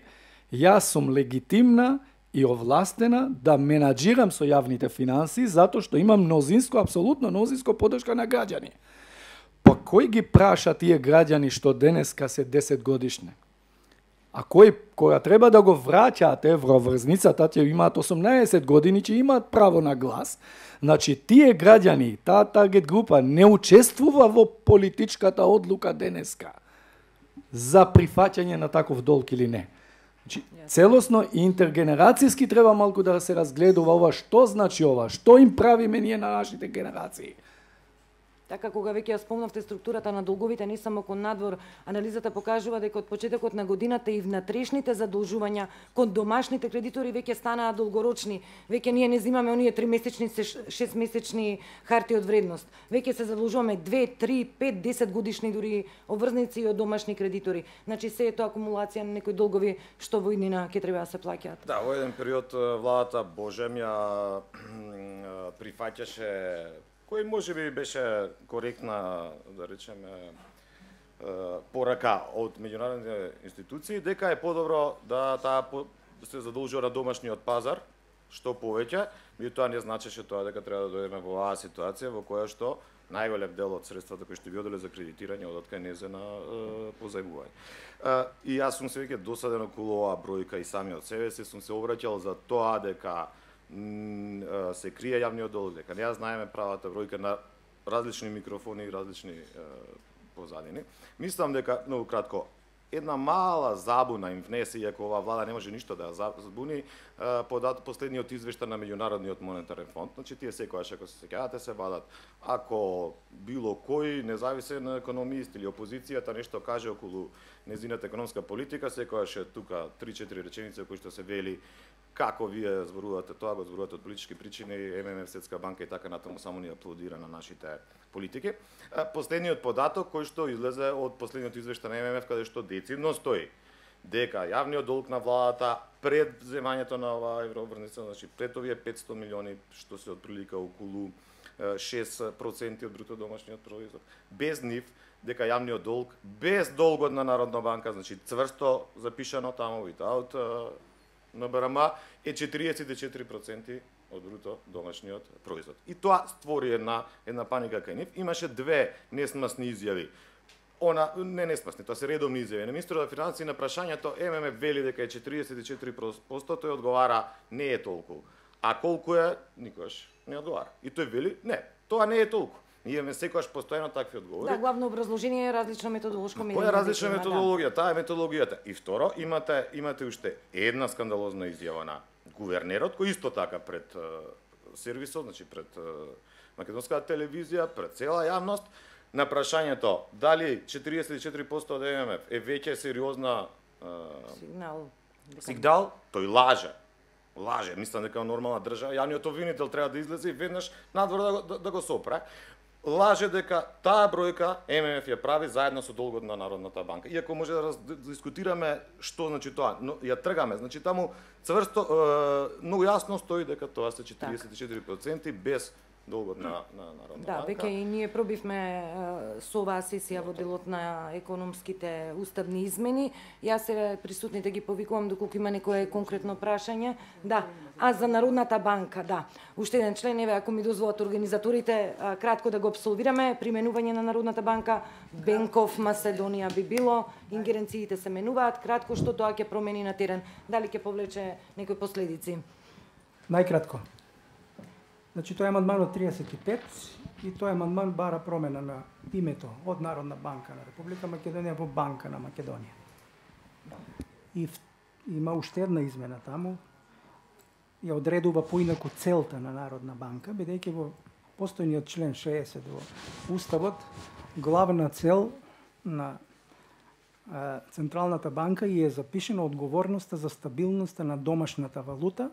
Јас сум легитимна и овластена да менаџирам со јавните финансии, затоа што имам мнозинско, апсолутно мнозинско поддршка на граѓани. Па кој ги праша тие граѓани што денеска се десет годишни? А кој, која треба да го враќаат евроврзницата, тие имаат осумнаесет години, че имаат право на глас. Значи, тие граѓани, таа таргет група не учествува во политичката одлука денеска за прифаќање на таков долг или не. Значи, целосно и интергенерацијски треба малку да се разгледува ова, што значи ова, што им правиме ние на нашите генерации. Така, кога веќе ја спомнавте структурата на долговите, не само кон надвор, анализата покажува дека од почетокот на годината и внатрешните задолжувања кон домашните кредитори веќе станаа долгорочни. Веќе ние не земаме оние тримесечни, шестмесечни харти од вредност. Веќе се задолжуваме две, три, пет, десет годишни дури обврзници од домашни кредитори. Значи се е тоа акумулација на некои долгови што во иднина ќе треба да се плаќаат. Да, во еден период владата Божем ја прифаќаше, кој може би беше коректна, да речеме, порака од меѓународните институции, дека е подобро да таа се задолжува на домашниот пазар, што повеќе, меѓутоа не значеше тоа дека треба да дојдеме во оваа ситуација во која што најголем дел од средствата кои што би оделе за кредитирање одат кај незена позајмување. И јас сум се веќе досаден околу оваа бројка и самиот себе си сум се обраќал за тоа дека се крие јавниот долг, дека не ја знаеме правата бројка на различни микрофони и различни е, позадини. Мислам дека, многу кратко, една мала забуна им внесе, иако оваа влада не може ништо да ја забуни, подат последниот извештај на Меѓународниот монетарен фонд. Значи, тие секојаш, ако се сеќавате, се вадат. Ако било кој независен економист или опозицијата нешто каже околу незината економска политика, секојаш е тука три-четири реченици кои што се вели како вие зборувате тоа, го зборувате од политички причини, Ем Ем Еф, Светска банка и така натаму само ни аплодира на нашите политики. Последниот податок кој што излезе од последниот извештај на Ем Ем Еф, каде што децидно стои дека јавниот долг на владата пред земањето на оваа еврообврзница, значи пред овие петсто милиони, што се отприлика околу шест проценти од бруто домашниот производ, без нив, дека јавниот долг, без долгот на Народна банка, значи цврсто запишано таму without на Б Р М, е четириесет и четири проценти од бруто домашниот производ. И тоа створи една една паника кај нив. Имаше две несмасни изјави. Она не несмасни, тоа се редовни изјави. На министерот на финансии на прашањето Ем Ем Еф вели дека е четириесет и четири проценти, тој одговара не е толку. А колку е, никогаш не одговара. И тој вели не, тоа не е толку. Ние имаме секогаш постојано такви одговори. Да, главно образложение е различна методолошка мерење. Која е различна методологија? Да. Таа е методологијата. И второ, имате имате уште една скандалозна изјава на гувернерот, кој исто така пред uh, сервисот, значи пред uh, македонската телевизија, пред цела јавност, на прашањето дали четириесет и четири проценти од Ем Ем Еф е веќе сериозна uh, сигнал. Сигнал, тој лаже. Лаже, мислам дека нормална држава, јавниот обвинител треба да излезе и веднаш надвор да, да, да го сопре. Лаже дека таа бројка Ем Ем Еф ја прави заедно со долгот на Народната банка. Иако може да дискутираме што значи тоа, но ја тргаме. Значи таму цврсто е, многу јасно стои дека тоа се четириесет и четири проценти без долгот на, на Народна да, банка. Да, веќе и ние пробивме е, со оваа сесија во делот на економските уставни измени. Јас се присутните ги повикувам доколку има некое конкретно прашање. Да, а за Народната банка, да. Уште еден член, еве, ако ми дозволат организаторите, а, кратко да го абсолвираме, применување на Народната банка, Бенков Маседонија би било, ингеренциите се менуваат, кратко што тоа ќе промени на терен, дали ќе повлече некои последици? Најкратко. Значи, тој амандман од триесет и пет и тој амандман бара промена на името од Народна банка на Република Македонија во Банка на Македонија. И в, има уште една измена таму, ја одредува поинаку целта на Народна банка, бидејќи во постојниот член шеесет во Уставот, главна цел на а, Централната банка и е запишена одговорноста за стабилноста на домашната валута,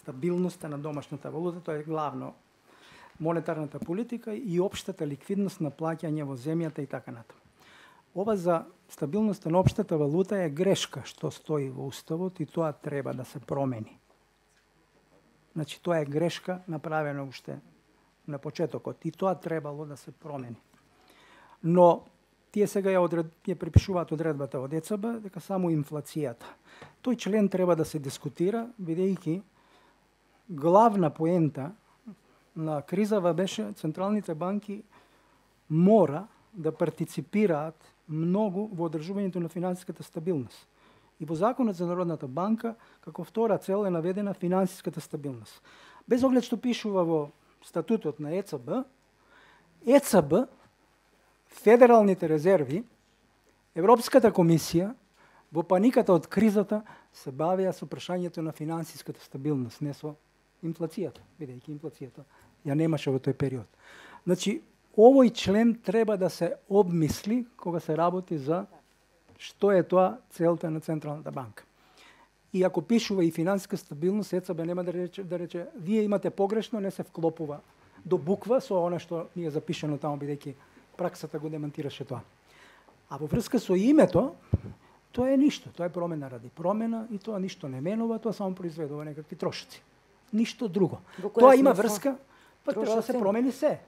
стабилноста на домашната валута, тоа е главно монетарната политика и општата ликвидност на плаќање во земјата и така натаму. Ова за стабилноста на општата валута е грешка што стои во Уставот и тоа треба да се промени. Значи, тоа е грешка направена уште на почетокот и тоа требало да се промени. Но тие сега ја, одред, ја припишуваат одредбата од Е Ц Б дека само инфлацијата. Тој член треба да се дискутира, бидејќи главна поента на кризава беше централните банки мора да партиципираат многу во одржувањето на финансиската стабилност. И во Законот за Народната банка, како втора цел е наведена финансиската стабилност. Без оглед што пишува во статутот на Е Ц Б, Е Ц Б, федералните резерви, Европската комисија, во паниката од кризата, се бавеа со прашањето на финансиската стабилност, не со инфлацијата, бидејќи инфлацијата ја немаше во тој период. Значи, овој член треба да се обмисли кога се работи за што е тоа целта на Централната банка. И ако пишува и финансиска стабилност, Е Ц Б нема да рече, да рече вие имате погрешно, не се вклопува до буква со она што ни е запишано таму, бидејќи праксата го демонтираше тоа. А во врска со името, тоа е ништо, тоа е промена ради промена и тоа ништо не менува, тоа само произведува некакви трошоци. Ништо друго. Тоа има врска, па треба да се промени се.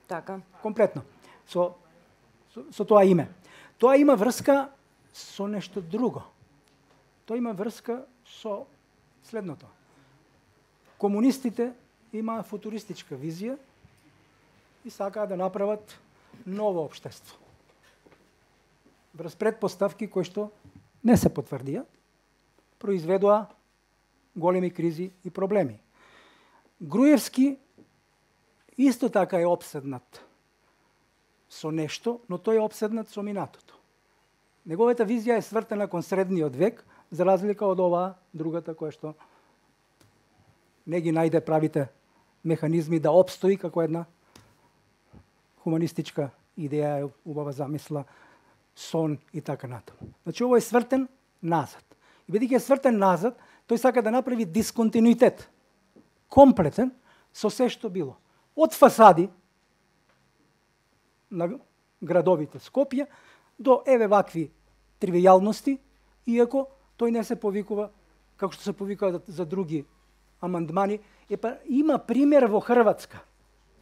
Така. Комплетно. Со, со, со тоа име. Тоа има врска со нешто друго. Тоа има врска со следното. Комунистите имаа футуристичка визија и сакаа да направат ново општество. Врз предпоставки кои што не се потврдија, произведоа големи кризи и проблеми. Груевски исто така е обседнат со нешто, но тој е обседнат со минатото. Неговата визија е свртена кон средниот век, за разлика од оваа другата која што не ги најде правите механизми да обстои како една хуманистичка идеја, убава замисла, сон и така натаму. Значи, ово е свртен назад. И бидејќи е свртен назад, тој сака да направи дисконтинуитет, комплетен со се што било. Од фасади на градовите Скопје до еве вакви тривијалности, иако тој не се повикува како што се повикува за други амандмани. Епа има пример во Хрватска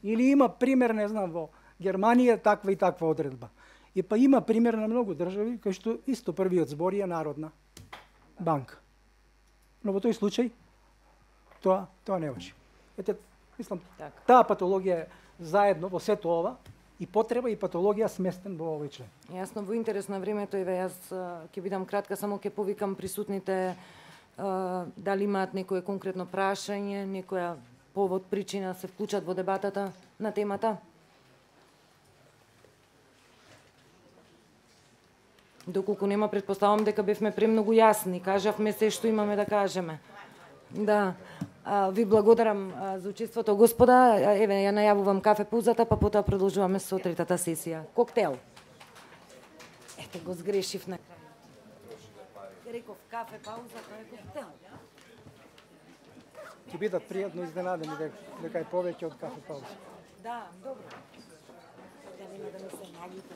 или има пример, не знам, во Германија таква и таква одредба. И па има пример на многу држави кај што исто првиот збор е Народна банка. Но во тој случај тоа тоа не важи. Ете, мислам, так. Таа патологија е заедно во сето ова и потреба и патологија сместен во овој член. Јасно, во интерес на времето, еве јас ќе бидам кратка, само ќе повикам присутните а, дали имаат некое конкретно прашање, некоја повод, причина се вклучат во дебатата на темата. Доколку нема, предпоставам дека бевме премногу јасни, кажавме се што имаме да кажеме. Да, а, ви благодарам а, за учеството, господа. Еве, ја најавувам кафе паузата, па потоа продолжуваме со третата сесија. Коктел. Ете, го сгрешив на крај. Реков кафе пауза, тоа е коктел. Ќе бидат пријатно изненадени дека, дека е повеќе од кафе пауза. Да, добро. Да нема да ми се наѓите.